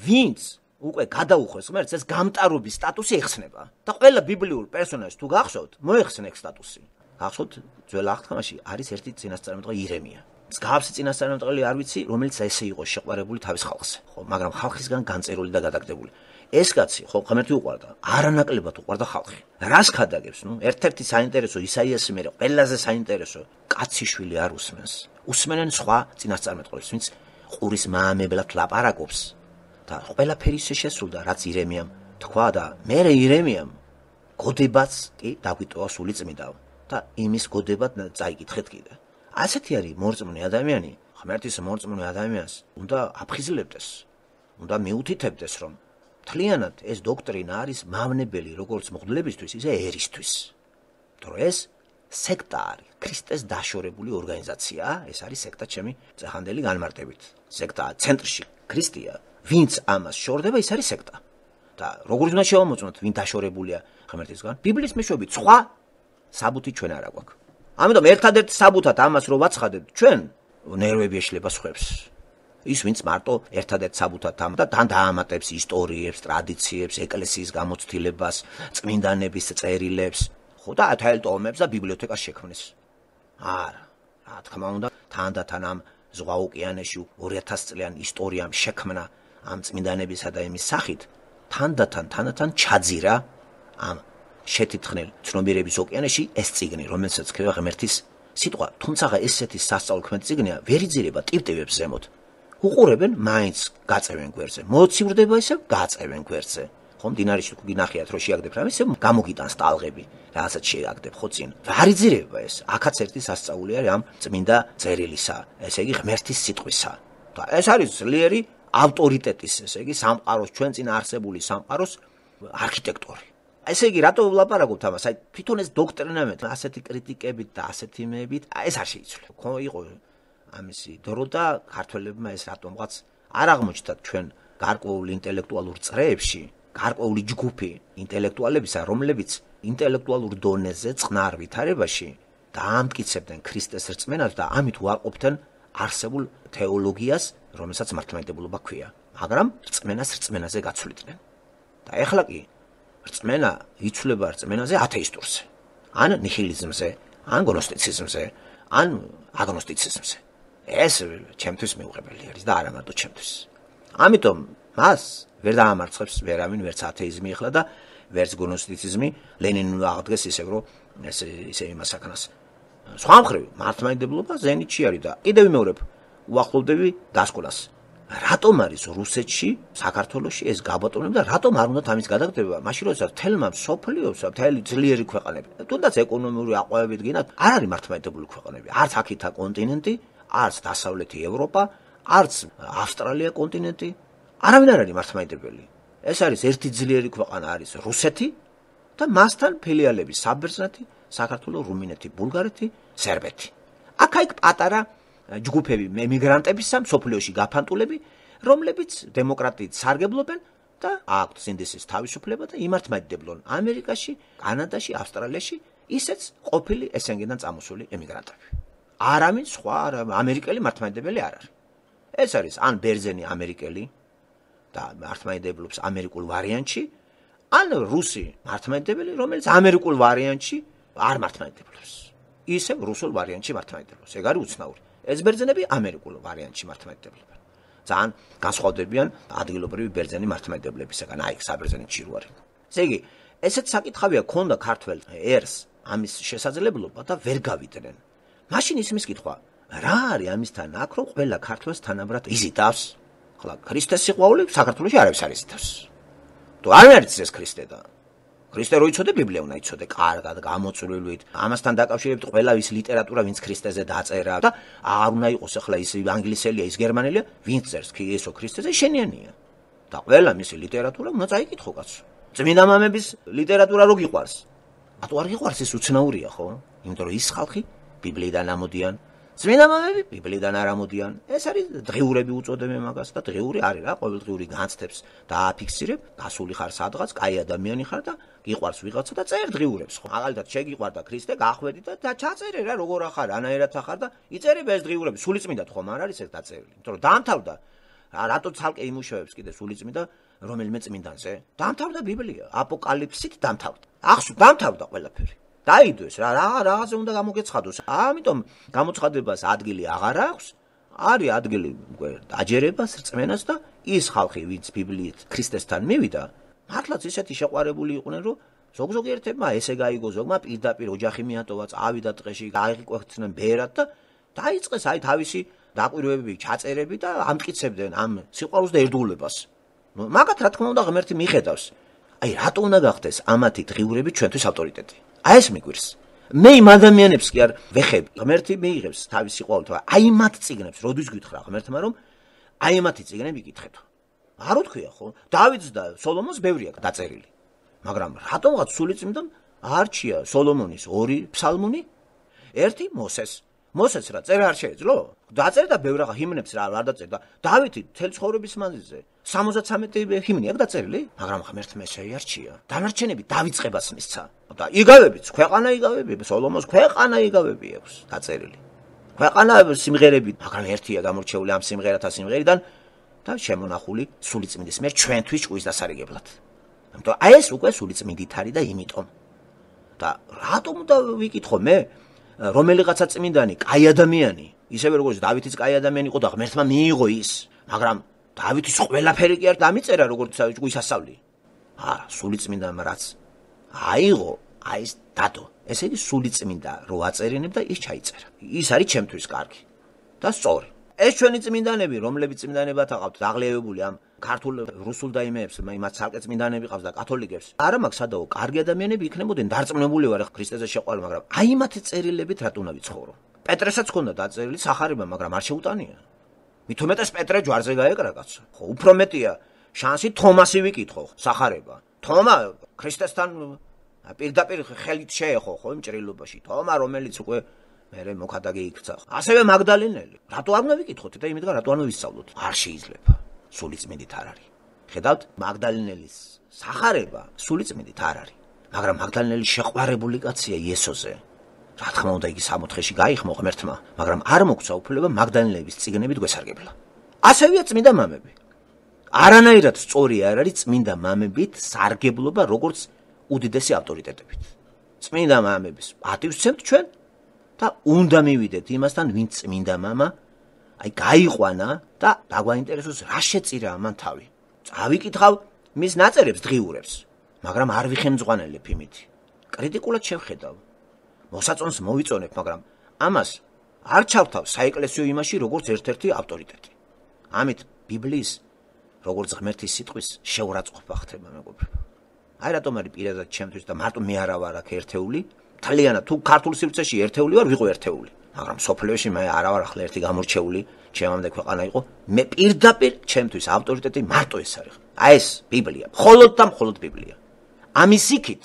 ვინც უკვე გადაუხვეს ღმერთს, ეს გამტარობის სტატუსი ეხსნება. და ყველა ბიბლიურ პერსონაჟს თუ გახსოვთ, მოეხსნე ეს სტატუსი. გახსოვთ ძველ აღთქმაში არის ერთი წინასწარმეტყველი ირემია. მსგავსი წინასწარმეტყველი არ ვიცი, რომელიც ესე იყო შეყვარებული თავის ხალხზე, ხო, მაგრამ ხალხისგან განწერული და გადაგდებული. ეს კაცი ხო ღმერთი უყვარდა, არანაკლებად უყვარდა ხალხი. რას ხადაგებს, ნუ, ერთ-ერთი საინტერესო ისაიასი მე ყველაზე საინტერესო კაციშვილი არ უსმენს. უსმენენ სხვა წინასწარმეტყველებს, ვინც ყურის მაამებლად ლაპარაკობს და ყველაფერი ისე შესრულდა, რაც ირემიამ თქვა და მე ირემიამ გოდებაც კი დაგვიტოვა სული წმიდავ და იმის გოდებად წაიკითხეთ კიდე. ასეთი არის მორწმუნე ადამიანი, ღმერთის მორწმუნე ადამიანს უნდა აფხიზლებდეს, უნდა მიუთითებდეს, რომ მთლიანად ეს დოქტრინა არის მავნებელი როგორც მღვდლებისთვის, ისე ერისთვის. თორე ეს სექტა არის, ქრისტეს დაშორებული ორგანიზაციაა, ეს არის სექტა ჩემი წახანდელი განმარტებით. სექტა ცენტრში ქრისტეა, ვინც ამას შორდება, ის არის სექტა. და როგორ უნდა შევამოწმოთ, ვინ დაშორებულია ღმერთისგან? ბიბლიის მეშვეობით სხვა საბუთი ჩვენ არ აქვს. ამიტომ ერთადერთ საბუთად ამას რო ვაცხადებთ, ჩვენ ნერვები ეშლება სხვებს. ის ვინც მარტო ერთადერთ საბუთად ამ და თან დაამატებს ისტორიებს, ტრადიციებს, ეკლესიის გამოცდილებას, წმინდანების წერილებს, ხო და ათეულტომებს და ბიბლიოთეკას შექმნეს. არა, რა თქმა უნდა, თან და თან ამ ზღვა ოკეანეში ორი ათას წლიან ისტორიამ შექმნა ამ წმინდანებისა და იმის სახით, თან და თან თანათან ჩაძირა ამ შეთითხნელ ცნობიერების ოკეანეში ეს წიგნი, რომელსაც ქვია ღმერთის სიტყვა, თუმცა ესეთი სასწაულქმედი წიგნია, ვერ იძირება ტივტივებს ზემოთ. უყურებენ, მაინც გაწევენ გვერდზე. მოცივრდება ისე გაწევენ გვერდზე. ხო, მდინარეში თუ გინახიათ, რომ შეაგდებ რამე, ისე გამოგიტანს ტალღები, რაღაცად შეაგდებ ხო წინ. არ იძირება ეს. აქაც ერთი სასწაული არის ამ წმინდა წერილისა, ესე იგი ღმერთის სიტყვისა. და ეს არის ძლიერი ავტორიტეტის, ესე იგი სამყაროს ჩვენ წინ არსებული სამყაროს არქიტექტორი. ესე იგი, რატო ვლაპარაკობთ ამას? აი, თვითონ ეს დოქტრინამეთ, ასეთი კრიტიკებით და ასეთი იმებით, ეს არ შეიცვლება. ხო, იყო ამისი დრო და ქართველებმა ეს რატომღაც არ აღმოჩნდათ ჩვენ გარკვეულ ინტელექტუალურ წრეებში, გარკვეული ჯგუფი ინტელექტუალებისა, რომლებიც ინტელექტუალურ დონეზე წყნარ ვითარებაში დაამტკიცებდნენ ქრისტეს რწმენას და ამით უარყოფდნენ არსებულ თეოლოგიას, რომელსაც მართლმადიდებლობა ქვია, მაგრამ რწმენას რწმენაზე გაცვლიდნენ. და ეხლა კი რწმენა იცვლება რწმენაზე ათეისტურზე, ან ნიჰილიზმზე, ან გნოსტიციზმზე, ან აგნოსტიციზმზე. ეს ჩემთვის მიუღებელი არის და არა მარტო ჩემთვის. ამიტომ მას ვერ დაამარცხებს ვერავინ, ვერც ათეიზმი ახლა და ვერც გნოსტიციზმი, ლენინი აღდგეს ისევ რომ ეს ისე იმას საკანას. სხვა მხრივ, მართლმადიდებლობა ზენიტში არის და კიდევ ვიმეორებ, უახლოვდები დასკვნას. რატომ არის რუსეთში, საქართველოში ეს გაბატონება და რატომ არ უნდა ამის გადაგდება? მაშინ როდესაც თელმა სოფლიოს, თელი ძლიერი ქვეყანები, თუნდაც ეკონომიური აყვავებით გინათ, არ არის მართლმადიდებლური ქვეყანები, არც აქითა კონტინენტი, არც დასავლეთი ევროპა, არც ავსტრალია კონტინენტი, არავინ არ არის მართლმადიდებელი. ეს არის ერთი ძლიერი ქვეყანა არის რუსეთი და მასთან ფილიალები საბერძნეთი, საქართველო, რუმინეთი, ბულგარეთი, სერბეთი. აქ-აქ პატარა ჯგუფები მიგრანტების სოფლიოში გაფანტულები, რომლებიც დემოკრატიით სარგებლობენ და აქვთ სინდისის თავისუფლება და იმართმადიდებლონ ამერიკაში, კანადაში, ავსტრალიაში, ისეც ყოფილი ესენგიდან წამოსული ემიგრანტები. არავინ სხვა ამერიკელი მართლმადიდებელი არ არის. ეს არის ან ბერძენი ამერიკელი და მართლმადიდებლობს ამერიკულ ვარიანტში, ან რუსი მართლმადიდებელი, რომელიც ამერიკულ ვარიანტში არ მართლმადიდებლობს. ისევ რუსულ ვარიანტში მართლმადიდებლობს. ეგ არის უცნაური. ეს ბერძენები ამერიკულ ვარიანტში მართლმადიდებლებიან. ძალიან განსხვავდებიან ადგილობრივი ბერძენი მართლმადიდებლებისგან. აი, საბერძენი ჯირვარი. ესე იგი, ესეც საკითხავია ქონდა ქართველ ერს ამის შესაძლებლობა და ვერ გავიდნენ. მაშინ ისმის კითხვა, რა არის ამისთან აქ, რომ ყველა ქართველს თანაბრად იზიდავს? ხლა ქრისტეს სიყვარული საქართველოში არავის არ იზიდავს. თუ არ არის ეს ქრისტე და ქრისტე რო იცოდე ბიბლია უნდა იცოდე კარგად გამოწვევლით. ამასთან დაკავშირებით ყველა ის ლიტერატურა ვინც ქრისტეზე დაწერა და არ უნდა იყოს ახლა ის ანგლისელია ის გერმანელია ვინც წერს იესო ქრისტეზე შენიანია. და ყველა მისი ლიტერატურა უნდა წაიკითხო კაცო. წმინდა მამების ლიტერატურა რო გიყვარს? ათო არ გიყვარს ეს უცნაურია ხო? იმიტომ რომ ის ხალხი ბიბლიიდან ამოდიან. წმინდა მამები ბიბლიიდან არ ამოდიან. ეს არის დღიურები უწოდებენ მაგას და დღიური არის რა, ყოველდღიური განცდებს დააფიქსირებ, გასული ხარ სადღაც, კაი ადამიანი ხარ და გიყვარს ვიღაცა და წერ დღიურებს ხო. მაგალითად შეგიყვარდა ქრისტე, გახვედი და ჩაწერე რა როგორ ახარ, ანაერად ახარ და იწერე ეს დღიურები. სულიწმინდად ხომ არ არის ეს დაწერილი. იმიტომ რომ დაამთავრდა რატო ცალკე იმუშავებს კიდე სულიწმინდა რომელიმე წმინდანზე? დაამთავრდა ბიბლია, აპოკალიფსით დაამთავრდა. ახსუ დაამთავრდა ყველაფერი. დაიდოს რა რა რაღაცე უნდა გამოგეცხადოს. ამიტომ გამოცხადებას ადგილი აღარ აქვს. არის ადგილი უკვე დაჯერებას, რწმენას და ის ხალხი, ვინც ბიბლიით ქრისტესთან მივიდა, მართლაც ისეთი შეყვარებული იყვნენ, რომ ზოგ-ზოგ ერთებმა ესე გაიგო, ზოგმა პირდაპირ ოჯახი მიატოვა, წავიდა ტყეში, გაიყვეხცნენ ბერად და დაიწყეს აი თავისი დაკვირვებები, ჩაწერები და ამტკიცებდნენ ამ სიყვარულს და ერთგულებას. ნუ მაგათ რა თქმა უნდა ღმერთი მიხედავს. აი რატო უნდა გახდეს ამათი დღიურები ჩვენთვის ავტორიტეტი? აი ეს მიგვირს. მე იმ ადამიანებს კი არ ვეხები. ღმერთი მიიღებს თავის სიყვარულით, აი მათ წიგნებს, როდის გითხრა ღმერთმა რომ აი მათი წიგნები გიკითხეთო. არ უთქვია ხო? დავითს და სოლომონს ბევრი აქვს დაწერილი. მაგრამ რატომღაც სულიწმინდამ არჩია სოლომონის ორი ფსალმუნი, ერთი მოსეს. მოსეს რა წერა არ შეეძლო? დაწერდა ბევრ რაღაც ჰიმნებს რა არ დაწერდა. დავითი თელ ცხოვრების მანძილზე სამოცდამეტი ჰიმნი აქვს დაწერილი, მაგრამ ღმერთმა შეიარჩია. დანარჩენები დავიწყებას მისცა. და იგავებიც, ქვეყანა იგავები, სოლომონს ქვეყანა იგავები აქვს დაწერილი. ქვეყანა სიმღერები, მაგრამ ერთია გამორჩეული ამ სიმღერათა სიმღერიდან და შემონახული სულიწმინდის მიერ ჩვენთვის ჭკუის დასარიგებლად. ამიტომ აი ეს უკვე სულიწმინდით არის და იმიტომ. და რატომ უნდა ვიკითხო მე? რომელიღაცა წმინდანი, კაი ადამიანი, ისევე როგორც დავითიც კაი ადამიანი იყო და ღმერთმა მიიღო ის, მაგრამ დავითის ყველაფერი კი არ დამიწერა როგორც ჭკუის ასავლი. არა, სულიწმინდამ რაც აიღო, აი ეს დადო. ესე იგი სულიწმინდა რო აწერინებ და ის ჩაიწერა. ის არის ჩემთვის კარგი და სწორი. ეს ჩვენი წმინდანები, რომლებიც წმინდანებად აყავთ დაღლიერებული ამ ქართულ რუსულ დაიმეებს, იმათ ცალკე წმინდანები ყავს და კათოლიკებს. არა მაქვს სადაო, კარგი ადამიანები იქნებოდნენ, დარწმუნებული ვარ ქრისტეზე შეყვარება, მაგრამ აი მათი წერილებით რატო უნდა ვიცხოვრო? პეტრესაც ჰქონდა დაწერილი სახარება, მაგრამ არ შეუტანია. მით უმეტეს პეტრე ჯვარზე გაეკრა კაცო. ხო, უფრო მეტია შანსი თომასი ვიკითხო სახარება. თომა ქრისტესთან პირდაპირ ხელით შეეხო ხო იმ ჭრილობაში. თომა რომელიც უკვე მერე მოხადაგე იქცა. ასევე მაგდალინელი. რატო არ უნდა ვიკითხოთ და იმედგარ რატო არ უნდა ვისწავლოთ? არ შეიძლება. სულიწმინდით არ არის. ხედავთ, მაგდალინელის სახარება სულიწმინდით არ არის. მაგრამ მაგდალინელი შეყვარებული კაცია იესოზე. რა თქმა უნდა იგი სამოთხეში გაიხმო ღმერთმა, მაგრამ არ მოგცა უფლება მაგდალინელის წიგნებით გვესარგებლა. ასევეა წმინდა მამები. არანაირად სწორი არ არის წმინდა მამებით სარგებლობა როგორც უდიდესი ავტორიტეტებით. წმინდა მამების პატივს ვცემთ ჩვენ და უნდა მივიდეთ იმასთან, ვინც წმინდა მამა, აი გაიყვანა და დაგვაინტერესოს რა შეწირა ამან თავი. წავიკითხავ მის ნაწერებს დღიურებს, მაგრამ არ ვიხემძღვანელებ იმით. კრიტიკულად შევხედავ. მოსაწონს მოვიწონებ, მაგრამ ამას არ ჩავთავ საეკლესიო იმაში, როგორც ერთ-ერთი ავტორიტეტი. ამით ბიბლიის როგორც ღმერთის სიტყვის შეურაცხყოფა ხდება მეგობრებო. აი რატომ არის პირადად ჩემთვის და მარტო მე არა ვარ აქ ერთეული, თლიანად თუ ქართულ სივრცეში ერთეული ვარ, ვიყო ერთეული. მაგრამ სოფლიოში მე არა ვარ ახლა ერთი გამორჩეული, ჩემამდე ქვეყანა იყო, მე პირდაპირ ჩემთვის ავტორიტეტი მარტო ეს არის. აი ეს ბიბლია, მხოლოდ და მხოლოდ ბიბლია. ამის იქით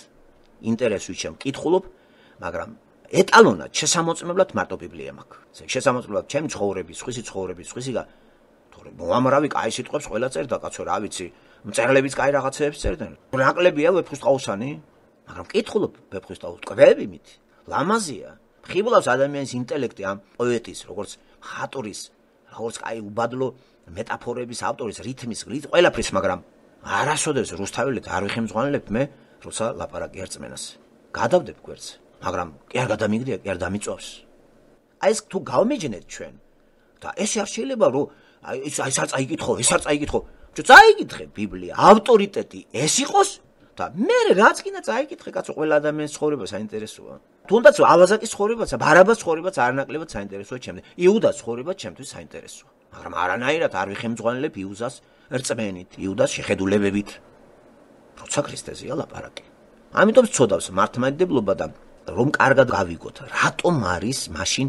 ინტერესვით შემკითხულობ, მაგრამ ეტალონად შესამოწმებლად მარტო ბიბლია მაქვს. შესამოწმებლად ჩემი ცხოვრების, სხვისი ცხოვრების, სხვისიგა თორემ მოამრავი კაი სიტყვებს ყველა წერდა კაცო რა ვიცი, მწერლებიც კაი რაღაცეებს წერდნენ. ნაკლებია ვეფხისტყაოსანი, მაგრამ კითხულობ ვეფხისტყაოს ტკბები მით. ლამაზია. ხიბლავს ადამიანის ინტელექტი ამ პოეტის, როგორც ხატურის, როგორც კაი უბადლო მეტაფორების ავტორის, რითმის, ყველაფრის, მაგრამ არასოდეს რუსთაველით არ ვიხემძღვანელებ მე, როცა ლაპარაკი არწმენას. გადავდებ გვერდზე. მაგრამ კი არ გადამიგდია, კი არ დამიწევს. აი ეს თუ გავმეჯნეთ ჩვენ და ეს არ შეიძლება რომ აი ეს ეს არ წაიკითხო, ეს არ წაიკითხო. ჩვენ წაიკითხე ბიბლია, ავტორიტეტი ეს იყოს და მე რაც კიდე წაიკითხე, კაცო, ყველა ადამიანის ცხოვრება საინტერესოა. თუნდაც ავაზაკის ცხოვრებაც, ბარაბას ცხოვრებაც არანაკლებად საინტერესოა ჩემთვის. იუდას ცხოვრება ჩემთვის საინტერესოა. მაგრამ არანაირად არ ვიხემძღვანელებ იუდას რწმენით, იუდას შეხედულებებით. როცა ქრისტეზეა ლაპარაკი. ამიტომ ვწოდავს მართლმადიდებლობა და რომ კარგად გავიგოთ, რატომ არის მაშინ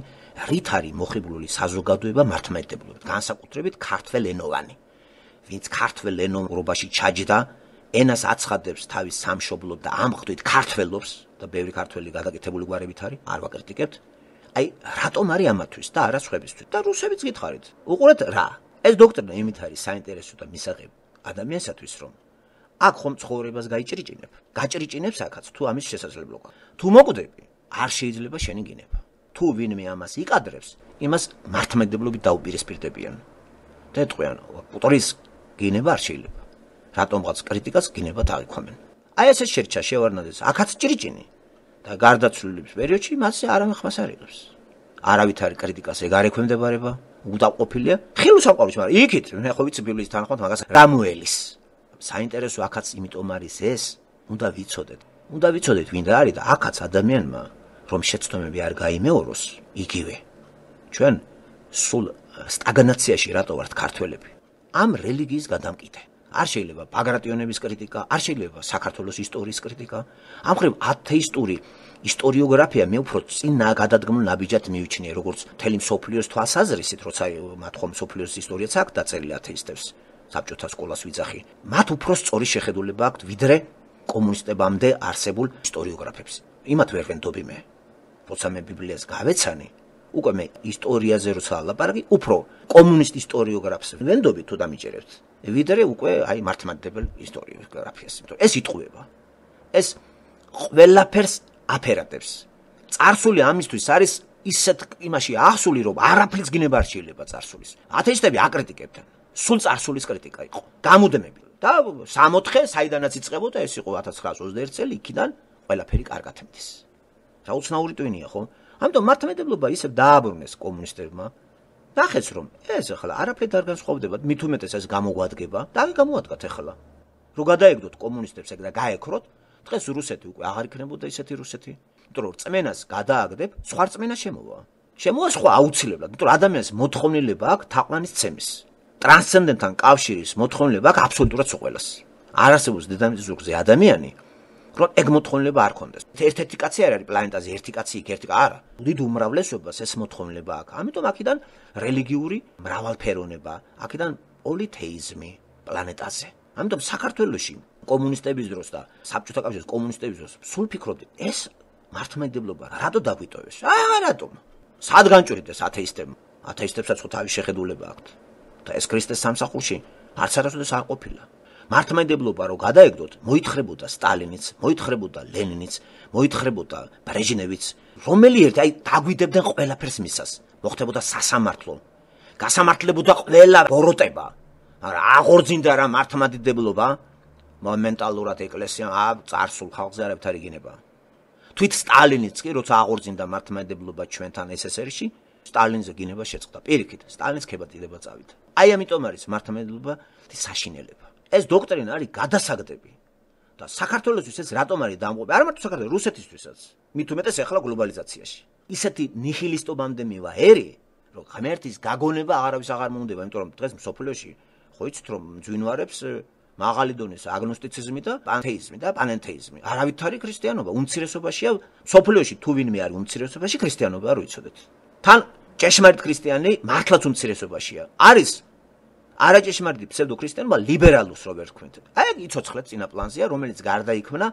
რით არის მოხიბლული საზოგადოება მართლმადიდებლობით, განსაკუთრებით ქართველენოვანი. ვინც ქართველენოვანობაში ჩაჯდა, ენას აცხადებს თავის სამშობლოდ და ამხდით ქართველობს და ბევრი ქართველი გადაკეთებული გვარებით არის, არ ვაკრიტიკებთ. აი, რატომ არის ამათვის და არა სხვებისთვის? და რუსებიც გითხარით. უყურეთ რა. ეს დოქტრინა იმით არის საინტერესო და მისაღები ადამიანისათვის, რომ აქ ხომ ცხოვრებას გაიჭრიჭინებ. გაჭრიჭინებს აქაც თუ ამის შესაძლებლობა. თუ მოკვდები, არ შეიძლება შენი გინება. თუ ვინმე ამას იკადრებს, იმას მართლმადიდებლობით დაუპირისპირდებიან. და ეტყვიან, პუტრის გინება არ შეიძლება. რატომღაც კრიტიკას გინებათ აღიქვამენ. აი ესე შერჩა შევარნადეს, აქაც ჭრიჭინი და გარდაცვლილების პერიოდში მასზე არამხმას არ იღებს. არავით არის კრიტიკას ეგ არ ექვემდებარება, უდაყოფილია. ხილოსოფიაში, მაგრამ იქით, მე ხო ვიცი ბიბლიის თანახმად მაგას რამუელის. საინტერესო აქაც იმიტომ არის ეს, უნდა ვიცოდეთ. უნდა ვიცოდეთ ვინ და არის და აქაც ადამიანმა რომ შეცდომები არ გაიმეოროს, იგივე. ჩვენ სულ სტაგნაციაში რატო ვართ ქართველები? ამ რელიგიის გადამკიდე. არ შეიძლება ბაგრატიონების კრიტიკა, არ შეიძლება საქართველოს ისტორიის კრიტიკა. ამ ხრივ ათეისტური ისტორიოგრაფია მე უფრო წინა გადადგმულ ნაბიჯად მივიჩნიე, როგორც მთელი მსოფლიოს თვალსაზრისით, როცა მათ ხომ მსოფლიოს ისტორიაც აქვს დაწერილი ათეისტებს. საბჭოთა სკოლას ვიძახი. მათ უფრო სწორი შეხედულება აქვთ, ვიდრე კომუნისტებამდე არსებულ ისტორიოგრაფებს. იმათ ვერ ვენდობი მე. როცა მე ბიბლიას გავეცანი, უკვე მე ისტორიაზე როცა ლაპარაკი, უფრო კომუნისტ ისტორიოგრაფს ვენდობი თუ დამიჯერებთ. ვიდრე უკვე აი მართლმადიდებელ ისტორიოგრაფიას. იმიტომ ეს იტყუება. ეს ყველაფერს აფერადებს. წარსული ამისთვის არის ისეთ იმაში აღსული, რომ არაფრის გინება არ შეიძლება წარსულის. ათეისტები აკრიტიკებდნენ. სულ წარსულის კრიტიკა იყო. გამუდმები. და სამოთხე საიდანაც იწყებოდა, ეს იყო ათას ცხრაას ოცდაერთი წელი, იქიდან ყველაფერი კარგად მიდის. რა უცნაური ტვინია, ხო? ამიტომ მართლმადიდებლობა ისევ დააბრუნეს კომუნისტებმა. ნახეთ რომ ეს ახლა არაფერი არ განსხვავდება, მით უმეტეს ეს გამოგვადგება და აი გამოადგათ ახლა. რო გადაეგდოთ კომუნისტებს ეგ და გაექროთ, დღეს რუსეთი უკვე აღარ იქნებოდა ისეთი რუსეთი. იმიტომ რომ რწმენას გადააგდებ, სხვა რწმენა შემოვა. შემოვა სხვა აუცილებლად, იმიტომ რომ ადამიანს მოთხოვნილება აქვს თაყვანის ცემის. ტრანსცენდენტთან კავშირის მოთხოვნილება აქვს აბსოლუტურად ყველას. არ არსებობს დედამიწის ზურგზე ადამიანი, რომ ეგ მოთხოვნილება არ ქონდეს. ერთ-ერთი კაცი არ არის პლანეტაზე, ერთი კაცი იქ, ერთი არა. დიდ უმრავლესობას ეს მოთხოვნილება აქვს. ამიტომ აქედან რელიგიური მრავალფეროვნება, აქედან პოლითეიზმი პლანეტაზე. ამიტომ საქართველოში კომუნისტების დროს და საბჭოთა კავშირის კომუნისტების დროს სულ ფიქრობდი, ეს მართლმადიდებლობა რატო დაგვიტოვეს? აა რატომ? სად განჭვრიდეს ათეისტებმა? ათეისტებსაც ხო თავის შეხედულება აქვთ. და ეს ქრისტეს სამსახურში არც არასოდეს არ ყოფილა. მართლმადიდებლობა რო გადაეგდოთ, მოითხრებოდა სტალინიც, მოითხრებოდა ლენინიც, მოითხრებოდა ბრეჟნევიც, რომელი ერთი აი დაგვიდებდნენ ყველაფერს მისას. მოხდებოდა სასამართლო. გასამართლებოდა ყველა ბოროტება. მაგრამ აღორძინდა რა მართლმადიდებლობა, მომენტალურად ეკლესია წარსულ ხალხზე არაფერი არ იგინება. თვით სტალინიც კი როცა აღორძინდა მართლმადიდებლობა ჩვენთან ეს ეს ერში, სტალინზე გინება შეწყდა. პირიქით, სტალინის ქებატილება წავიდა. აი ამიტომ არის მართლმადიდებლობა საშინელება. ეს დოქტრინა არის გადასაგდები. და საქართველოსთვის ეს რატომ არის დამღობი? არა მარტო საქართველოს, რუსეთისთვისაც. მით უმეტეს ახლა გლობალიზაციაში. ისეთი ნიჰილისტობამდე მივა ერი, რომ ღმერთის გაგონება აღარავის აღარ მომდება, იმიტომ რომ დღეს მსოფლიოში ხო იცით რომ მძვინვარებს მაღალი დონის აგნოსტიციზმი და პანთეიზმი და პანენთეიზმი. არავითარი ქრისტიანობა უმცირესობაშია მსოფლიოში, თუ ვინმე არის უმცირესობაში, ქრისტიანობა არ უიცოდეთ. თან ჭეშმარიტ ქრისტიანი მართლაც უმცირესობაშია. არის არაჭეშმარიტი ფსევდოქრისტიანობა ლიბერალურს რო ვერ თქვენთ. აი იცოცხლეთ წინა პლანზეა, რომელიც გარდაიქმნა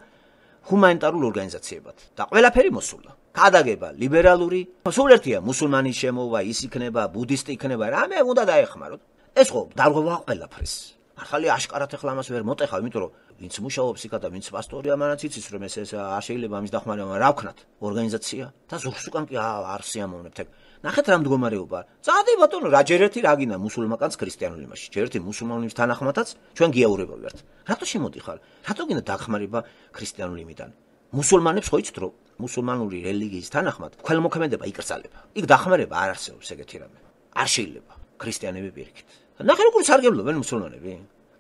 ჰუმანიტარულ ორგანიზაციებად და ყველაფერი მოსულა. გადაგება ლიბერალური, სულ ერთია მუსულმანის შემოვა, ის იქნება, ბუდისტი იქნება, რამე უნდა დაეხმაროთ. ეს ხო დარღვევა ყველაფრის. ახალი აშკარად ახლა ამას ვერ მოტეხავ, იმიტომ რომ ვინც მუშაობს იქა და ვინც პასტორია, მანაც იცის რომ ეს ეს არ შეიძლება ამის დახმარება, რა ვქნათ? ორგანიზაცია და ზურგს უკან კი არ სიამოვნებთ ეგ. ნახეთ რა მდგომარეობა. წადი ბატონო, რა ჯერ ერთი რა გინდა მუსულმანკაც ქრისტიანულ იმაში. ჯერ ერთი მუსულმანების თანახმათაც ჩვენ გიაურება ვართ. რატო შემოდიხარ? რატო გინდა დახმარება ქრისტიანულ იმიდან? მუსულმანებს ხო იცით რომ მუსულმანური რელიგიის თანახმად ქველმოქმედება იკრძალება. იქ დახმარება არ არსებობს ეგეთი რამე. არ შეიძლება ქრისტიანები პირიქით. ნახე როგორ სარგებლობენ მუსულმანები.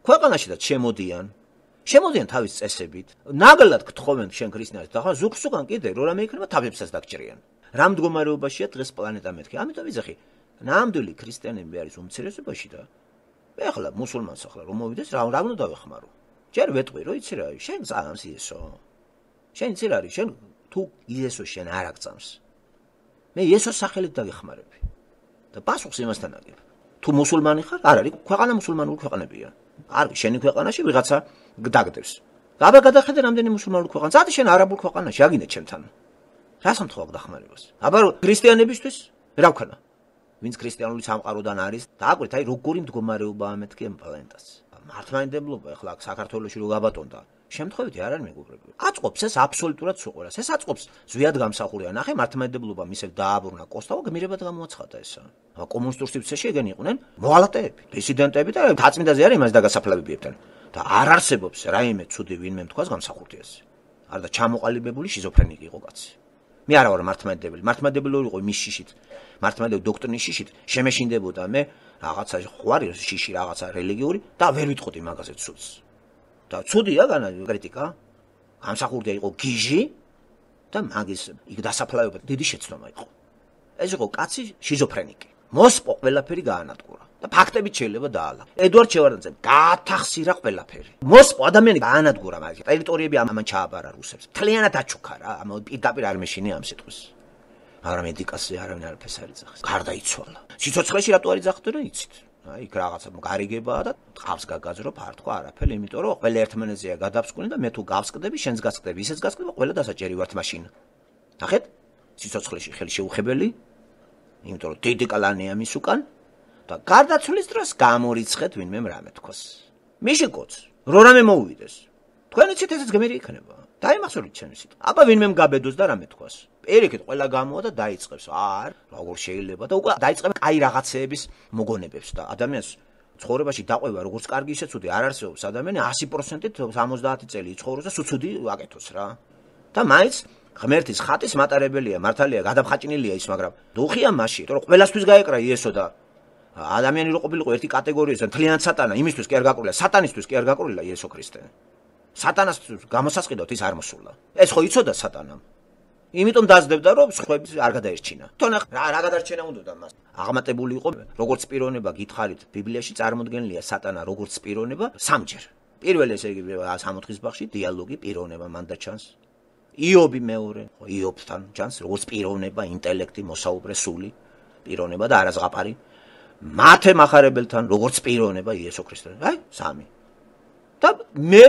ქვეყანაში და შემოდიან. შემოდიან თავის წესებით. ნაგლად გთხოვენ შენ ქრისტიანებს და ხა ზუგ-ზუგან კიდე რო რამე იქნება თავებსაც დაგჭრიან. რა მდგომარეობაშია დღეს პლანეტა მეთქი. ამიტომ ვიზახი ნამდვილი ქრისტიანები არის უმცირესობაში და ეხლა მუსულმანს ახლა რომ მოვიდეს რა რა უნდა დავეხმარო. ჯერ ვეტყვი რომ იცი რა არის შენ წამს იესო. შენ იცი რა არის შენ თუ იესო შენ არ აგწამს. მე იესოს სახელით დაგეხმარები. და პასუხს იმასთან აგებ. თუ მუსულმანი ხარ, არ არის ქვეყანა მუსულმანური ქვეყანებია. არის შენი ქვეყანაში ვიღაცა დაგდევს. აბა გადახედე რამდენი მუსულმანური ქვეყანა. ზადი შენ არაბულ ქვეყანაში აგინე ჩემთან. რა სამთხოვ დახმარებას. აბა ქრისტიანებისთვის რა ვქნა? ვინც ქრისტიანული სამყაროდან არის, დააკვირდით აი როგორი მდგომარეობაა მეთქი ამ პლანეტას. მართლმადიდებლობა ახლა საქართველოში რო გაბატონდა. შემთხვევითი არ არის მეგობრები. აწყობს ეს აბსოლუტურად სუყურას. ეს აწყობს ზვიად გამსახურია. ნახე მართლმადიდებლობა მისევ დააბრუნა კოსტავა გმირებად გამოაცხადა ესა. აბა კომუნისტურ სივრცეში ეგენი იყვნენ მოვალატეები, დისიდენტები და თაწმინდაზე არის იმას დაგასაფლავებიებთან. და არ არსებობს რაიმე ცუდი ვინმე თქვას გამსახურდიას. არ და ჩამოყალიბებული შიზოფრენიკი იყო კაცი. მე არა ვარ მართლმადიდებელი. მართლმადიდებელი იყო მის შიშით. მართლმადიდებლური დოქტრინის შიშით შემეშინდებოდა მე რაღაცა ხვარი შიში რაღაცა რელიგიური და ვერ ვიტყოდი მაგაზე ცუდს. და ცუდია განა კრიტიკა. გამსახურდია იყო გიჟი და მაგის იქ დასაფლავება დიდი შეცდომა იყო. ეს იყო კაცი შიზოფრენიკი. მოსპო ყველაფერი გაანადგურა. და ფაქტებით შეიძლება დაალა. ედვარდ შევარდნაძემ გაათახსირა ყველაფერი. მოსპო ადამიანი გაანადგურა მაგ ტერიტორიები ამან ჩააბარა რუსებს. მთლიანად აჩუქა რა. ამ პირდაპირ არ მეშინე ამ სიტყვის. მაგრამ ედიკაზე არავინ არაფერს არ იძახეს. გარდაიცვალა. სიცოცხლეში რატო არ იძახდა რა იცით? აი იქ რაღაცა გარიგებაა და ყავს გაგაზრო ფართყვა არაფერი, იმიტომ რომ ყველა ერთმანეთზეა გადაფსკვნი და მე თუ გავსკდები, შენს გასკდები, ისეც გასკდება, ყველა დასაჭერი ვართ მაშინ. ნახეთ? სიცოცხლეში ხელი შეუხებელი, იმიტომ რომ დიდი კალანია მის უკან და გარდაცვლის დროს გამორიცხეთ ვინმე რამე თქოს. მიშიკოც, რო რამე მოუვიდეს. თქვენი ცით ესეც გმირი იქნება. დაიმახსოვრით ჩემი სიტყვა. აბა ვინმე გაბედოს და რამე თქოს. ერიქით ყველა გამოვა და დაიწყებს. არ, როგორ შეიძლება და უკვე დაიწყება კაი რაღაცეების მოგონებებს და ადამიანს ცხოვრებაში დაყვება როგორც კარგი ისე ცუდი არ არსებობს. ადამიანი ასი პროცენტით სამოცდაათი წელი იცხოვროს და სუცუდი აკეთოს რა. და მაინც ღმერთის ხატის მატარებელია, მართალია, გადამხაჭნილია ის, მაგრამ დუხია მასში, რომ ყველასთვის გაეკრა იესო და ადამიანი რო ყოფილიყო ერთი კატეგორიაზე, მთლიანად სატანა, იმისთვის კი არ გაკურილა, სატანისთვის კი არ გაკურილა იესო ქრისტე. სატანას გამოსასყიდოთ ის არ მოსულა. ეს ხო იცოდა სატანამ. იმიტომ დაძდებდა რომ სხვებს არ გადაერჩინა. თორე რა რა გადარჩენა უნდა მას. აღმატებული იყო როგორც პიროვნება გითხარით ბიბლიაში წარმოდგენილია სატანა როგორც პიროვნება სამჯერ. პირველი ესე იგი სამოთხის ბაღში დიალოგი პიროვნება მან და ჩანს. იობი მეორე, ხო იობთან ჩანს როგორც პიროვნება, ინტელექტი, მოსაუბრე სული, პიროვნება და არაზღაპარი. მათე מחარებელთან როგორც პიროვნება იესო ქრისტე. აი, სამი. და მე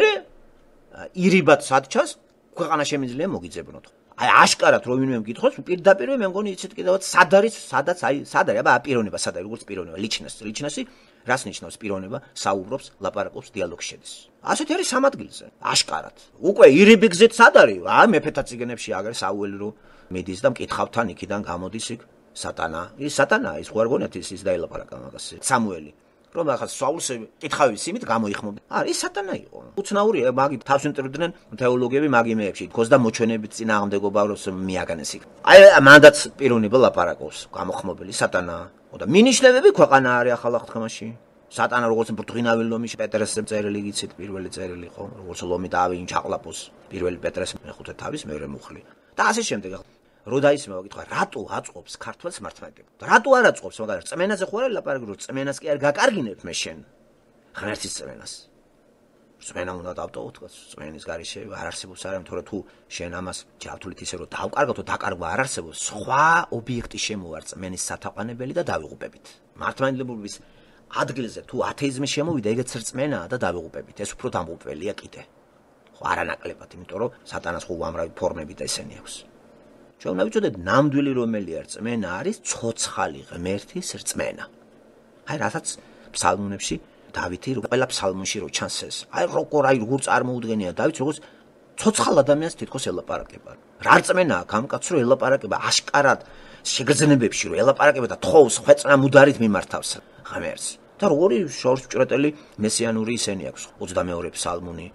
ირიბად სათჩას ქვეყანა შემიძლია მოგიძებნოთ. აი აშკარად რო ვინმე მკითხოს პირდაპირ მე მგონი იცით კიდევაც სად არის სადაც აი სად არის აბა პიროვნება სად არის როგორც პიროვნება ლიჩნეს ლიჩნესი რას ნიშნავს პიროვნება საუბრობს ლაპარაკობს დიალოგში შედის ასეთი არის სამადგილზე აშკარად უკვე ირიბიგზეთ სად არის აი მეფეთა წიგნებში აგერ საუელი რო მიდის და მკითხავთან იქიდან გამოდის იქ სატანა ის სატანა ის ხო არ გონიათ ის ის დაილაპარაკა მაგასე სამუელი რომ ახლა საულს კითხავის იმით გამოიხმობ. არის სატანა იყო. უცნაურია, მაგით თავს ინტერვიდნენ თეოლოგები მაგიმეებში, თქოს და მოჩვენებით წინააღმდეგობა როს მიაგანეს იქ. აი მანდაც პიროვნება ლაპარაკობს, გამოხმობილი სატანა. და მინიშნებები ქვეყანა არის ახალ აღთქმაში. სატანა როგორც ბრტყინავი ლომი პეტრეს წერილი იცით, პირველი წერილი ხო, როგორც ლომი დავინ ჩაყლაპოს, პირველი პეტრეს მეხუთე თავის მეორე მუხლი. და ასე შემდეგ. რო დაისმევა კითხვა, რატო აწყობს ქართველს მართლმადიდებლობა? რატო არ აწყობს, მაგალითად, წმენაზე ხო არის ლაპარაკი, რომ წმენას კი არ გაკარგინებ მე შენ. ღმერთის წმენას. წმენა უნდა დავტოვოთ, წმენის გარეშე არ არსებობს არა, თორე თუ შენ ამას ჯავთულით ისე რომ დავკარგავთო, დაკარგვა არ არსებობს, სხვა ობიექტი შემოვარ წმენის სათაყვანებელი და დავიღუპებით. მართლმადიდებლობის ადგილზე თუ ათეიზმი შემოვიდა, ეგეც რწმენაა და დავიღუპებით. ეს უფრო დამღუპველია კიდე. ხო არანაკლებად, იმიტომ რომ სატანას ხო უამრავი ფორმები და ესენი აქვს. ჩვენ უნდა ვიცოდეთ ნამდვილი რომელია რწმენა არის ცოცხალი ღმერთის რწმენა. აი რასაც ფსალმუნებში დავითი ყველა ფსალმუნში რო ჩანს ეს. აი როგორ აი როგორ წარმოუდგენია დავით როგორც ცოცხალ ადამიანს თითქოს ელაპარაკება. რა რწმენაა გამკაც რო ელაპარაკება აშკარად შეგრძნებებში რო ელაპარაკება და თხოვს ხვეწნა მუდარით მიმართავს ღმერთს. და როგორი შორსჭრეტელი მესიანური ისენი აქვს ოცდამეორე ფსალმუნი,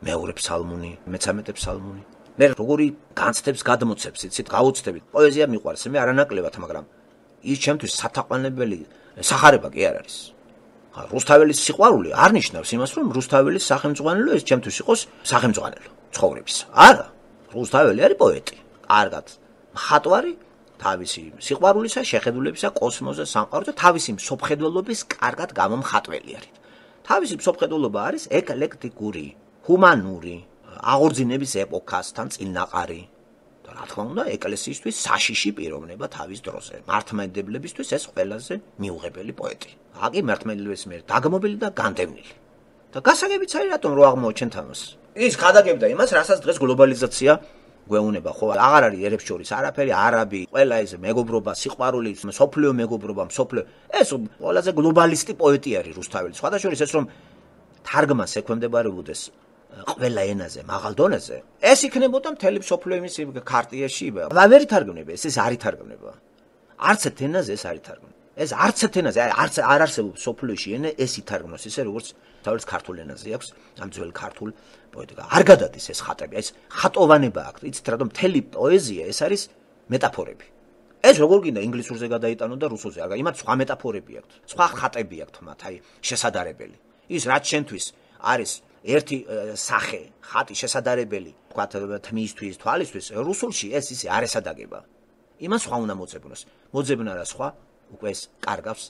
მეორე ფსალმუნი, მეთერთმეტე ფსალმუნი. მე როგორი განცდებს გადმოცებს, იცით, გაუცდებით. პოეზია მიყვარს, მე არანაკლებად, მაგრამ ის ჩემთვის სათაყვანებელი სახარება კი არ არის. ხა, რუსთაველის სიყვარული არ ნიშნავს იმას, რომ რუსთაველის სახელმძღვანელო ეს ჩემთვის იყოს სახელმძღვანელო ცხოვრებისა. არა, რუსთაველი არის პოეტი, კარგად მხატვარი, თავისი სიყვარულისა, შეხედულებისა, კოსმოსზე, სამყაროზე, თავისი მსოფლმხედველობის კარგად გამომხატველი არის. თავისი მსოფლმხედველობა არის ეკლექტიკური, ჰუმანური, აღორძინების ეპოქასთან წინაყარი. და რა თქმა უნდა, ეკლესიისთვის საშიში პიროვნება თავის დროზე. მართლმადიდებლებისთვის ეს ყველაზე მიუღებელი პოეტი. აგი მართლმადიდებლების მიერ დაგმობილი და განდევნილი. და გასაგებიც არის რატომ რო აღმოჩენთ ამას. ის გადაგებდა იმას, რასაც დღეს გლობალიზაცია გვეუნება, ხო? აღარ არის ერებს შორის არაფერი, არაბი, ყველა ეს მეგობრობა, სიყვარული, სოფლიო მეგობრობა, სოფლიო. ეს ყველაზე გლობალისტი პოეტი არის რუსთაველი. სხვადასხვა ეს რომ თარგმანს ექვემდებარებოდეს ყველა ენაზე, მაღალ დონეზე, ეს იქნებოდა მთელი სოფლიო იმის ქარტიაში. ვერ ითარგმნება, ეს ეს არ ითარგმნება. არც ერთ ენაზე ეს არ ითარგმნება. ეს არც ერთ ენაზე, არც არ არსებობს სოფლიოში ენა, ეს ითარგმნოს ისე როგორც თავის ქართულ ენაზე აქვს, ამ ძველ ქართულ პოეტიკა. არ გადადის ეს ხატები, ეს ხატოვანება აქვს. იცით რა, მთელი პოეზია ეს არის მეტაფორები. ეს როგორ გინდა ინგლისურზე გადაიტანო და რუსულზე, არა, იმათ სხვა მეტაფორები აქვს, სხვა ხატები აქვს მათ, აი, შესაძლებელი. ის რაც შენთვის არის ერთი სახე, ხატი შესაძლებელი, თქვა თმისთვის, თვალისთვის, რუსულში ეს ისე არ ესადაგება. იმას სხვა უნდა მოძებნოს. მოძებნა რა სხვა, უკვე ეს კარგავს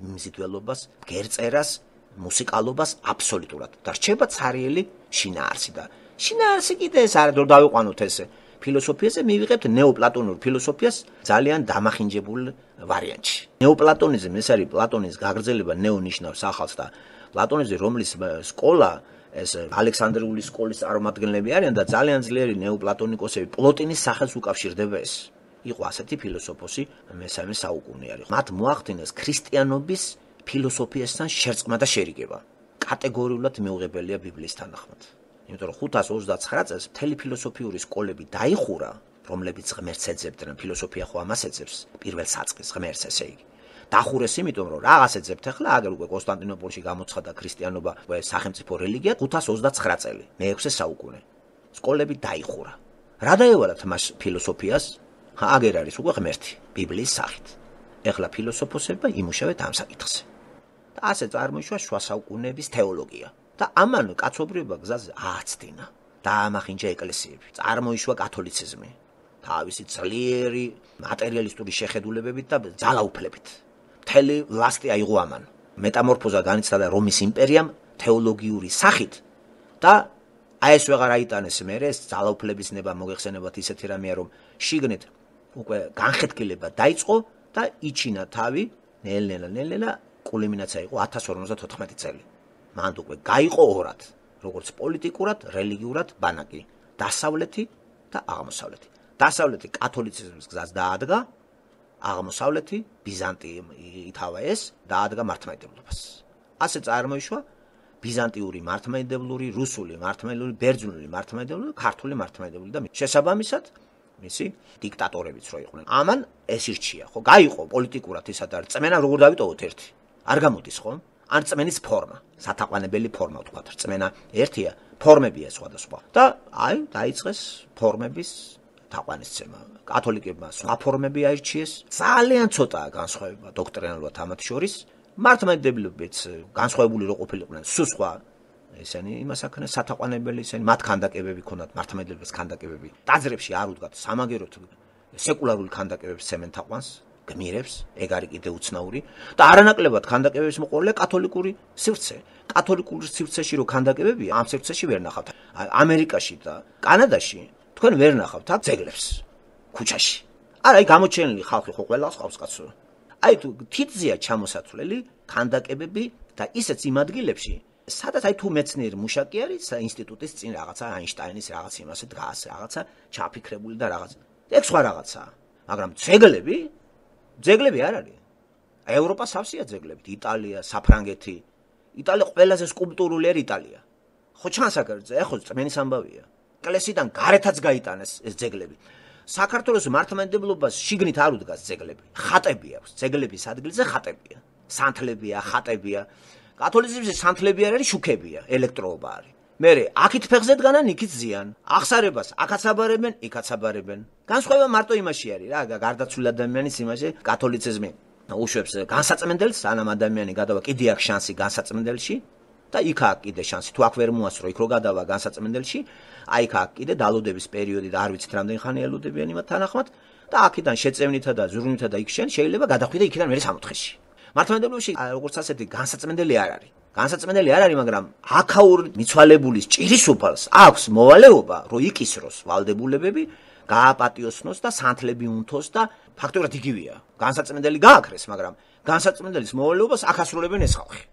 მზიდველობას, გერწერას, მუსიკალობას აბსოლუტურად. და რჩება ცარიელი შინაარსი და შინაარსი კიდე ეს არ დავიყვანოთ ეს ფილოსოფიაზე, მივიღებთ ნეოპლატონურ ფილოსოფიას ძალიან დამახინჯებულ ვარიანტში. ნეოპლატონიზმი ეს არის პლატონის გაგრძელება, ნეო ნიშნავს ახალს და პლატონიზმი, რომლის სკოლა ეს ალექსანდრიული სკოლის წარმომადგენლები არიან და ძალიან ძლიერი ნეოპლატონიკოსები პლოტინის სახელს უკავშირდება ეს. იყო ასეთი ფილოსოფოსი მესამე საუკუნე არის. მათ მოახდინეს ქრისტიანობის ფილოსოფიასთან შერწყმა და შერიგება. კატეგორიულად მიუღებელია ბიბლიის თანახმად. იმიტომ რომ ხუთას ოცდაცხრა წელს მთელი ფილოსოფიური სკოლები დაიხურა, რომლებიც ღმერთს ეძებდნენ, ფილოსოფია ხო ამას ეძებს, პირველ საწყის ღმერთს ესე იგი. დახურეს იმიტომ რომ რაღაც ეძებთ ახლა, აგერ უკვე კონსტანტინოპოლში გამოცხადა ქრისტიანობა, უკვე სახელმწიფო რელიგია ხუთას ოცდაცხრა წელი, მეექვსე საუკუნე. სკოლები დაიხურა. რა დაევალათ მას ფილოსოფიას? აგერ არის უკვე ღმერთი, ბიბლიის სახით. ეხლა ფილოსოფოსებმა იმუშავეთ ამ საკითხზე. და ასე წარმოიშვა შუა საუკუნეების თეოლოგია. და ამან კაცობრიობა გზაზე ააცდინა. დაამახინჯა ეკლესიები. წარმოიშვა კათოლიციზმი. თავისი ძლიერი მატერიალისტური შეხედულებებით და ძალაუფლებით. მთელი ვლასტი აიღო ამან. მეტამორფოზა განიცადა რომის იმპერიამ თეოლოგიური სახით და აი ეს ვეღარ აიტანეს მერე ეს ძალაუფლების ნება მოგეხსენებათ ისეთი რამეა რომ შიგნით უკვე განხეთქილება დაიწყო და იჩინა თავი ნელ-ნელა ნელ-ნელა კულმინაცია იყო ათას ორმოცდათოთხმეტი წელი. მან უკვე გაიყო ორად, როგორც პოლიტიკურად, რელიგიურად ბანაკი, დასავლეთი და აღმოსავლეთი. დასავლეთი კათოლიციზმის გზას დაადგა, აღმოსავლეთი ბიზანტიი ითავა ეს დაადგა მართლმადიდებლობას. ასე წარმოიშვა ბიზანტიური მართლმადიდებლური, რუსული მართლმადიდებლური, ბერძნული მართლმადიდებლური, ქართული მართლმადიდებლური და შესაბამისად მისი დიქტატორებიც რო იყვნენ. ამან ეს ირჩია, ხო, გაიყო პოლიტიკურად ისად არის. წმენა როგორ დავიტოვოთ ერთი? არ გამოდის ხო? ან წმენის ფორმა, სათაყვანებელი ფორმა ვთქვათ. წმენა ერთია, ფორმებია სხვადასხვა. და აი, დაიწყეს ფორმების თაყვანისცემა. კათოლიკებმა სხვა ფორმები აირჩიეს. ძალიან ცოტაა განსხვავება დოქტრინალურად ამათ შორის. მართლმადიდებლებიც განსხვავებული რო ყოფილიყვნენ, სულ სხვა ესენი იმას აქნეს სათაყვანებელი, ესენი მათ ქანდაკებები ქონდათ, მართლმადიდებლების ქანდაკებები. ტაძრებში არ უდგათ სამაგეროთ სეკულარული ქანდაკებებს სცემენ თაყვანს, გმირებს, ეგ არის კიდე უცნაური და არანაკლებად ქანდაკებების მოყოლია კათოლიკური სივრცე. კათოლიკური სივრცეში რო ქანდაკებებია, ამ სივრცეში ვერ ნახავთ. ამერიკაში და კანადაში თქვენ ვერ ნახავთ აქ ძეგლებს ქუჩაში. არა, აი გამოჩენილი ხალხი ხო ყველას ყავს კაცო. აი თუ თითზეა ჩამოსათვლელი ქანდაკებები და ისეც იმ ადგილებში, სადაც აი თუ მეცნიერი მუშაკი არის ინსტიტუტის წინ რაღაცა აინშტაინის რაღაც იმასე დგას, რაღაცა ჩაფიქრებული და რაღაც. ეგ სხვა რაღაცაა. მაგრამ ძეგლები, ძეგლები არ არის. ევროპა სავსეა ძეგლებით, იტალია, საფრანგეთი. იტალია ყველაზე სკულპტურული არის იტალია. ხო ჩანს აგერზე, ეხო წმენის ამბავია. ეკლესიიდან გარეთაც გაიტანეს ეს ძეგლები. საქართველოს მართლმადიდებლობას შიგნით არ უდგას ძეგლები. ხატები აქვს, ძეგლების ადგილზე ხატებია. სანთლებია, ხატებია. კათოლიციზმში სანთლები არ არის, შუქებია, ელექტროობა არის. მერე აქით ფეხზე დგანან, იქით ზიან. ახსარებას აქაც აბარებენ, იქაც აბარებენ. განსხვავება მარტო იმაში არის რა, გარდაცვლილი ადამიანის იმაში, კათოლიციზმი უშვებს განსაწმენდელს, სანამ ადამიანი გადავა, კიდე აქვს შანსი განსაწმენდელში და იქ აქვს კიდე შანსი. თუ აქ ვერ მოასწრო, იქ რო გადავა განსაწმენდელში, აი იქ აქვს კიდე დალოდების პერიოდი და არ ვიცით რამდენი ხანი ელოდებიან იმათ თანახმად და აქედან შეწევნითა და ზურნითა და იქ შენ შეიძლება გადახვიდე იქიდან მერე სამოთხეში. მართლმადიდებლობაში როგორც ასეთი განსაწმენდელი არ არის. განსაწმენდელი არ არის, მაგრამ აქაურ მიცვალებულის ჭირის უფალს აქვს მოვალეობა, რომ იკისროს ვალდებულებები, გააპატიოსნოს და სანთლები უნთოს და ფაქტობრივად იგივეა. განსაწმენდელი გააქრეს, მაგრამ განსაწმენდელის მოვალეობას აქ ასრულებენ ეს ხალხი.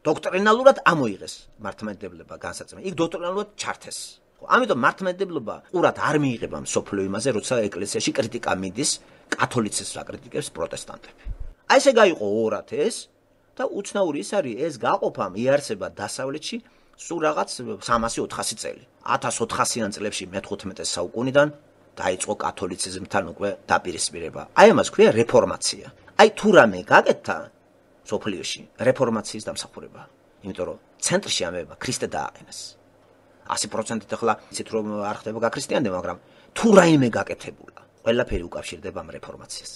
დოქტრინალურად ამოიღეს მართლმადიდებლობა განსაწმენდელი. იქ დოქტრინალურად ჩართეს. ამიტომ მართლმადიდებლობა ყურად არ მიიღება მსოფლიო იმაზე, როცა ეკლესიაში კრიტიკა მიდის, კათოლიციზმს აკრიტიკებს პროტესტანტები. აი ესე გაიყო ორად ეს და უცნაური ის არის, ეს გაყოფა იარსება დასავლეთში სულ რაღაც სამასი ოთხასი წელი. ათას ოთხასიან წლებში მეთოთხმეტე საუკუნიდან დაიწყო კათოლიციზმთან უკვე დაპირისპირება. აი ამას ქვია რეფორმაცია. აი თუ რამე გაკეთდა სოფლიოში, რეფორმაციის დამსახურება. იმიტომ რომ ცენტრში ამება ქრისტე დააყენეს. ასი პროცენტით ახლა ისეთ რომ არ ხდება გაქრისტიანდება, მაგრამ თუ რაიმე გაკეთებულა, ყველაფერი უკავშირდება ამ რეფორმაციას.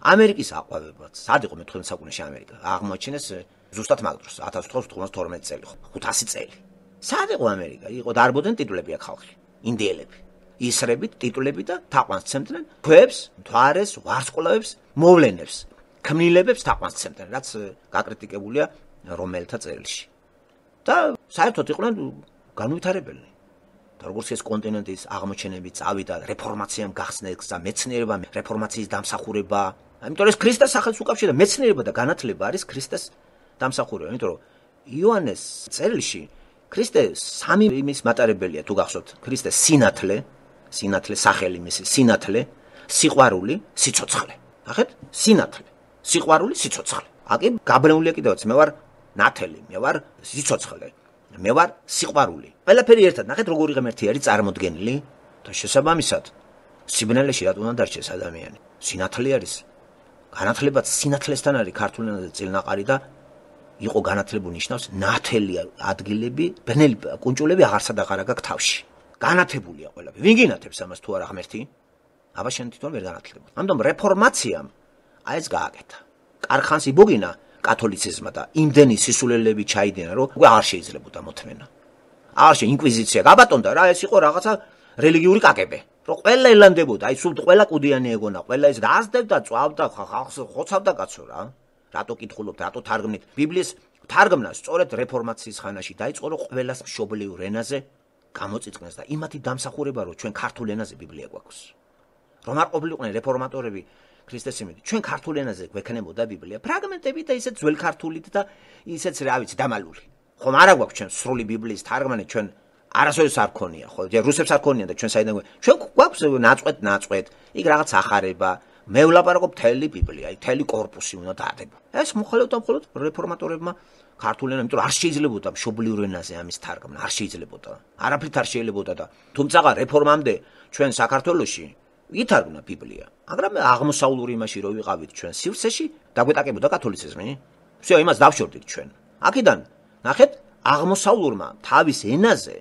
ამერიკის აყვავებაც, სად იყო მეთორმეტე საუკუნეში ამერიკა? აღმოაჩინეს ზუსტად მაგ დროს, ათას ოთხას ოცდაათი წელი, ხუთასი წელი. სად იყო ამერიკა? იყო დარბოდნენ ტიტულები აქ ხალხი, ინდიელები. ისრებით ტიტულები და თაყვანს ცემდნენ ქვებს, მთვარეს, ვარსკვლავებს, მოვლენებს, ქმნილებებს თაყვანს ცემდნენ, რაც გაკრიტიკებულია რომელთა წერილში. და საერთოდ იყვნენ განუვითარებელი. და როგორც ეს კონტინენტის აღმოჩენები წავიდა, რეფორმაციამ გახსნეს და მეცნიერება, რეფორმაციის დამსახურება. ამიტომ ეს ქრისტეს სახელს უკავშირდება მეცნიერება და განათლება არის ქრისტეს დამსახურება. იმიტომ რომ იოანეს წერილში ქრისტე სამი იმის მატარებელია, თუ გახსოვთ, ქრისტე სინათლე, სინათლე სახელი მისი, სინათლე, სიყვარული, სიცოცხლე. ნახეთ? სინათლე, სიყვარული, სიცოცხლე. აკი გაბრეუნულია კიდევაც, მე ვარ ნათელი, მე ვარ სიცოცხლე. მე ვარ სიყვარული. ყველაფერი ერთად, ნახეთ როგორი ღმერთი არის წარმოდგენილი და შესაბამისად სიბნელეში რატომ უნდა დარჩეს ადამიანი? სინათლე არის. განათლებაც სინათლესთან არის ქართულ ენაზე წილნაყარი და იყო განათლებული ნიშნავს ნათელი ადგილები, ბნელი კუნჭულები აღარსა და აღარ აქვს თავში. განათებულია ყველაფერი. ვინ გინათებს ამას თუ არა ღმერთი? აბა შენ თვითონ ვერ განათლებო. ამიტომ რეფორმაციამ აი ეს გააკეთა. კარხანს იბოგინა კათოლიციზმმა და იმდენი სისულელები ჩაიდინა, რომ უკვე არ შეიძლებოდა მოთმენა. არ შე ინკვიზიცია გაბატონდა რა, ეს იყო რაღაცა რელიგიური კაკებე. რომ ყველა ელანდებოდა, აი სულ ყველა კუდიანი ეგონა, ყველა ეს დაასდებდა, წვავდა, ხალხს ხოცავდა კაცო რა. რატო კითხულობთ, რატო თარგმნით? ბიბლიის თარგმნა სწორედ რეფორმაციის ხანაში დაიწყო, რომ ყველას მშობლიურ ენაზე გამოწიწყნეს და იმათი დამსახურება, რომ ჩვენ ქართულ ენაზე ბიბლია გვაქვს. რომ არ ყოფილიყვნენ რეფორმატორები ქრისტეს იმედი, ჩვენ ქართულ ენაზე გვექნებოდა ბიბლია, ფრაგმენტები და ისეთ ძველ ქართულით და ისეც რა ვიცი, დამალული. ხომ არა გვაქვს ჩვენ სრული ბიბლიის თარგმანი, ჩვენ არასოდეს არ ქონია, ხო? რუსებს არ ქონია და ჩვენ საიდან ჩვენ გვაქვს ნაწყვეთ, ნაწყვეთ, იქ რაღაც ახარება, მე ვლაპარაკობ მთელი ბიბლია, აი მთელი კორპუსი უნდა დაადება. ეს მოხალევდა მხოლოდ რეფორმატორებმა ქართულ ენაზე, იმიტომ რომ არ შეიძლებოდა მშობლიურ ენაზე ამის თარგმნა, არ შეიძლებოდა. არაფრით არ შეიძლებოდა და თუმცა რეფორმამდე ჩვენ საქართველოში ითარგმნა ბიბლია, მაგრამ აღმოსავლური იმაში რო ვიყავით ჩვენ სივრცეში, დაგვეტაკებოდა კათოლიციზმი. всё, იმას დავშორდით ჩვენ. აქედან ნახეთ, აღმოსავლურმა თავის ენაზე,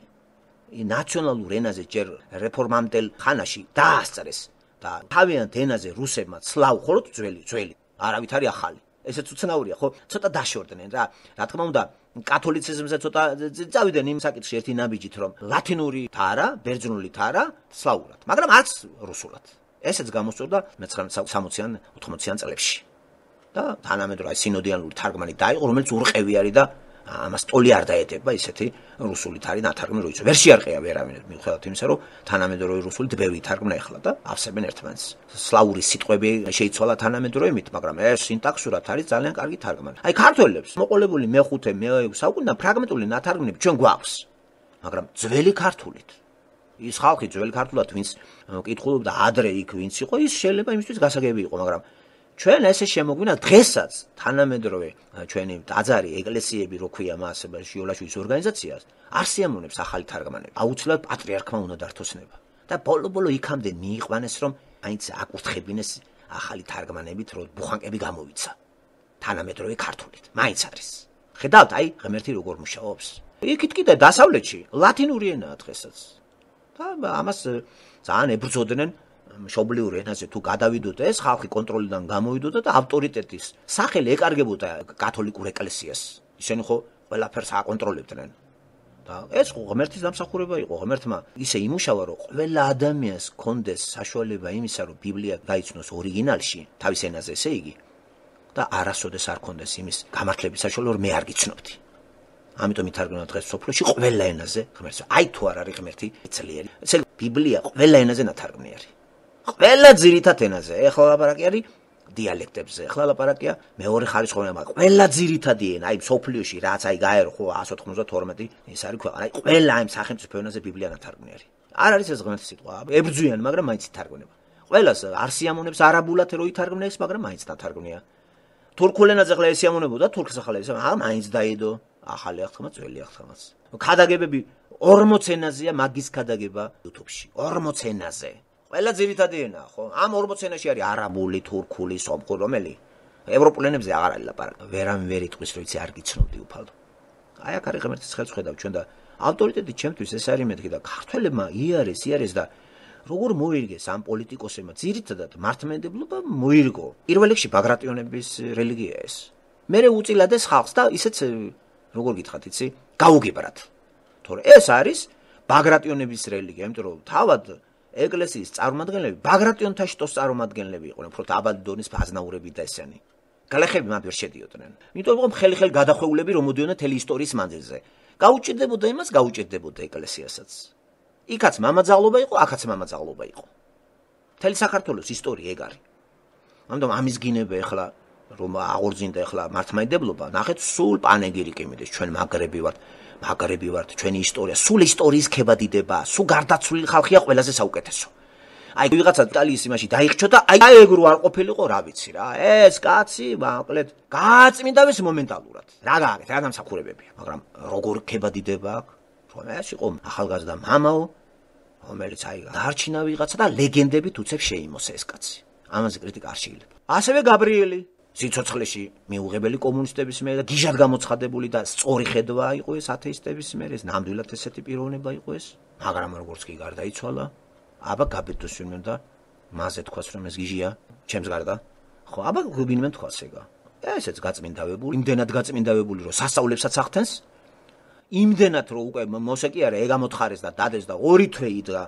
ნაციონალურ ენაზე ჯერ რეფორმამდელ ხანაში დაასწრეს და თავიანთ ენაზე რუსებმა სლავ ხოლოდ ძველი, ძველი, არავით არის ახალი. ესეც უცნაურია, ხო? ცოტა დაშორდნენ რა. რა თქმა უნდა, კათოლიციზმზე ცოტა წავიდნენ იმ საკითხში ერთი ნაბიჯით, რომ ლათინური თარა, ბერძნული თარა, სლავურად, მაგრამ არც რუსულად. ესეც გამოსწორდა მეცხრამეტე ութმოციან წლებში. და თანამედროვე სინოდიანური თარგმანი დაიყო, რომელიც ურყევი არის და ამას ტოლი არ დაეტება ისეთი რუსული თარი ნათარგმნი რო იცო. ვერ შეარყია ვერავინ, მიუხედავად იმისა, რომ თანამედროვე რუსული თბევი თარგმნა ეხლა და ავსებენ ერთმანეთს. სლავური სიტყვები შეიცვალა თანამედროვეებით, მაგრამ ეს სინტაქსურად არის ძალიან კარგი თარგმანი. აი ქართველებს მოყოლებული მეხუთე, მეექვსე საუკუნიდან ფრაგმენტული ნათარგმნები ჩვენ გვაქვს, მაგრამ ძველი ქართულით. ის ხალხი ძველი ქართულად ვინც კითხულობდა ადრე იქ ვინც იყო, ის შეიძლება იმისთვის გასაგები იყო, მაგრამ ჩვენ ესე შემოგვინა დღესაც თანამედროვე ჩვენი ტაძარი ეკლესიები რო ქვია მას შიოლაშვილის ორგანიზაციას არ სიამოვნებს ახალი თარგმანები. აუცილებლად პატრიარქმა უნდა დართოსნება და ბოლო-ბოლო იქამდე მიიყვანეს რომ აინც აკურთხებინეს ახალი თარგმანებით რო ბუხანკები გამოვიცა თანამედროვე ქართულით. მაინც არის. ხედავთ აი ღმერთი როგორ მუშაობს. იქით კიდე დასავლეთში ლათინური ენაა დღესაც. და ამას ძალიან ებრძოდნენ მშობლიური ენაზე თუ გადავიდოთ ეს ხალხი კონტროლიდან გამოვიდოდა და ავტორიტეტის სახელი ეკარგებოდა კათოლიკურ ეკლესიას. ისინი ხო ყველაფერს აკონტროლებდნენ. და ეს ღმერთის დამსახურება იყო. ღმერთმა ისე იმუშავა, რომ ყველა ადამიანს კონდეს საშუალება იმისა, რომ ბიბლია გაიცნოს ორიგინალში, თავის ენაზე, ესე იგი, და არასოდეს არ კონდეს იმის გამართლების საშუალება, რომ მე არ გიცნობდი. ამიტომ ითარგმნა დღეს სოფლოში ყველა ენაზე ღმერთს. აი თუ არ არის ღმერთი ძლიერი. ესე ბიბლია ყველა ენაზე ნათარგმნი არის. ყველა ძირითად ენაზე. ეხლა ლაპარაკი არის დიალექტებზე. ეხლა ლაპარაკია მეორე ხარისხოვანი, მაგრამ ყველა ძირითადი ენა, აი სოფლიოში რაც აი გაერო ხო εκατს ოთხმოცდათორმეტი ის არის ქვეყანა. აი ყველა აი სახელმწიფო ენაზე ბიბლია ნათარგმნი არის. არ არის ეს ღმერთის სიტყვა. ებრძვიან, მაგრამ მაინც ითარგმნება. ყველას არ სიამოვნებს არაბულად რო ითარგმნა ეს, მაგრამ მაინც ნათარგმნია. თურქულ ენაზე ახლა ეს სიამოვნებოდა, თურქს ახლა ეს, აა მაინც დაედო. ახალი აღთქმა, ძველი აღთქმაც. ქადაგებები ორმოც ენაზეა მაგის ქადაგება YouTube-ში. ორმოც ენაზე. ყველა ძირითადი ენაა, ხო? ამ ორმოც ენაში არის არაბული, თურქული, სომხური, რომელი? ევროპულ ენებზე აღარ არის ლაპარაკი. ვერავინ ვერ იტყვის, რომ იცი არ გიცნობდი უფალო. აი აქ არის ღმერთის ხელს ხედავ ჩვენ და ავტორიტეტი ჩემთვის ეს არის მეთქი და ქართველებმა იარეს, იარეს და როგორ მოირგეს ამ პოლიტიკოსებმა ძირითადად მართლმადიდებლობა მოირგო. პირველ რიგში ბაგრატიონების რელიგია ეს. მერე უწილადეს ხალხს და ისეც როგორ გითხრათ, იცი? გაუგებრათ. თორე ეს არის ბაგრატიონების რელიგია, იმიტომ რომ თავად ეკლესიის წარმომადგენლები ბაგრატიონთა შტოს წარმომადგენლები იყვნენ, უფრო დაბალი დონის აზნაურები და ესენი. გალახები მათ ვერ შედიოდნენ. იმიტომ რომ ხელი-ხელ გადახვეულები რომ მოდიოდნენ თელი ისტორიის მანძილზე. გაუჭირდებოდა იმას, გაუჭირდებოდა ეკლესიასაც. იქაც მამაძაღლობა იყო, აქაც მამაძაღლობა იყო. თელი საქართველოს ისტორია ეგ არის. ამიტომ ამის გინება ეხლა რომ აღორძინდა ეხლა მართლმადიდებლობა, ნახეთ სულ პანეგირიკი მიდის, ჩვენ მაგრები ვართ, მაგრები ვართ, ჩვენი ისტორია, სულ ისტორიის ქებადიდება, სულ გარდაცვლილი ხალხია ყველაზე საუკეთესო. აი ვიღაცა იტალიის იმაში დაიხჩო და აი ეგრო არ ყოფილიყო, რა ვიცი რა. ეს კაცი, მოკლედ, გააწმინდავეს მომენტალურად. რა გააკეთ, რა დამსახურებებია, მაგრამ როგორ ქებადიდება აქ? რომ ეს იყო ახალგაზრდა მამაო, რომელიც აი დარჩინა ვიღაცა და ლეგენდებით უცებ შეიმოსა ეს კაცი. ამაზე კრიტიკა არ შეიძლება. ასევე გაბრიელი სიცოცხლეში მიუღებელი კომუნისტების მიერ და გიჟად გამოცხადებული და სწორი ხედვა იყო ეს ათეისტების მიერ, ეს ნამდვილად ესეთი პიროვნება იყო ეს, მაგრამ როგორც კი გარდაიცვალა, აბა გაბედოს ვინმე და მასე თქვას რომ ეს გიჟია, ჩემს გარდა. ხო, აბა ვინმე თქვას ეგა. ესეც გაწმინდავებული, იმდენად გაწმინდავებული, რომ სასწავლებსაც ახთენს, იმდენად რომ უკვე მოსე კი არა, ეგ ამოთხარეს და დადეს და ორი თვე იდგა,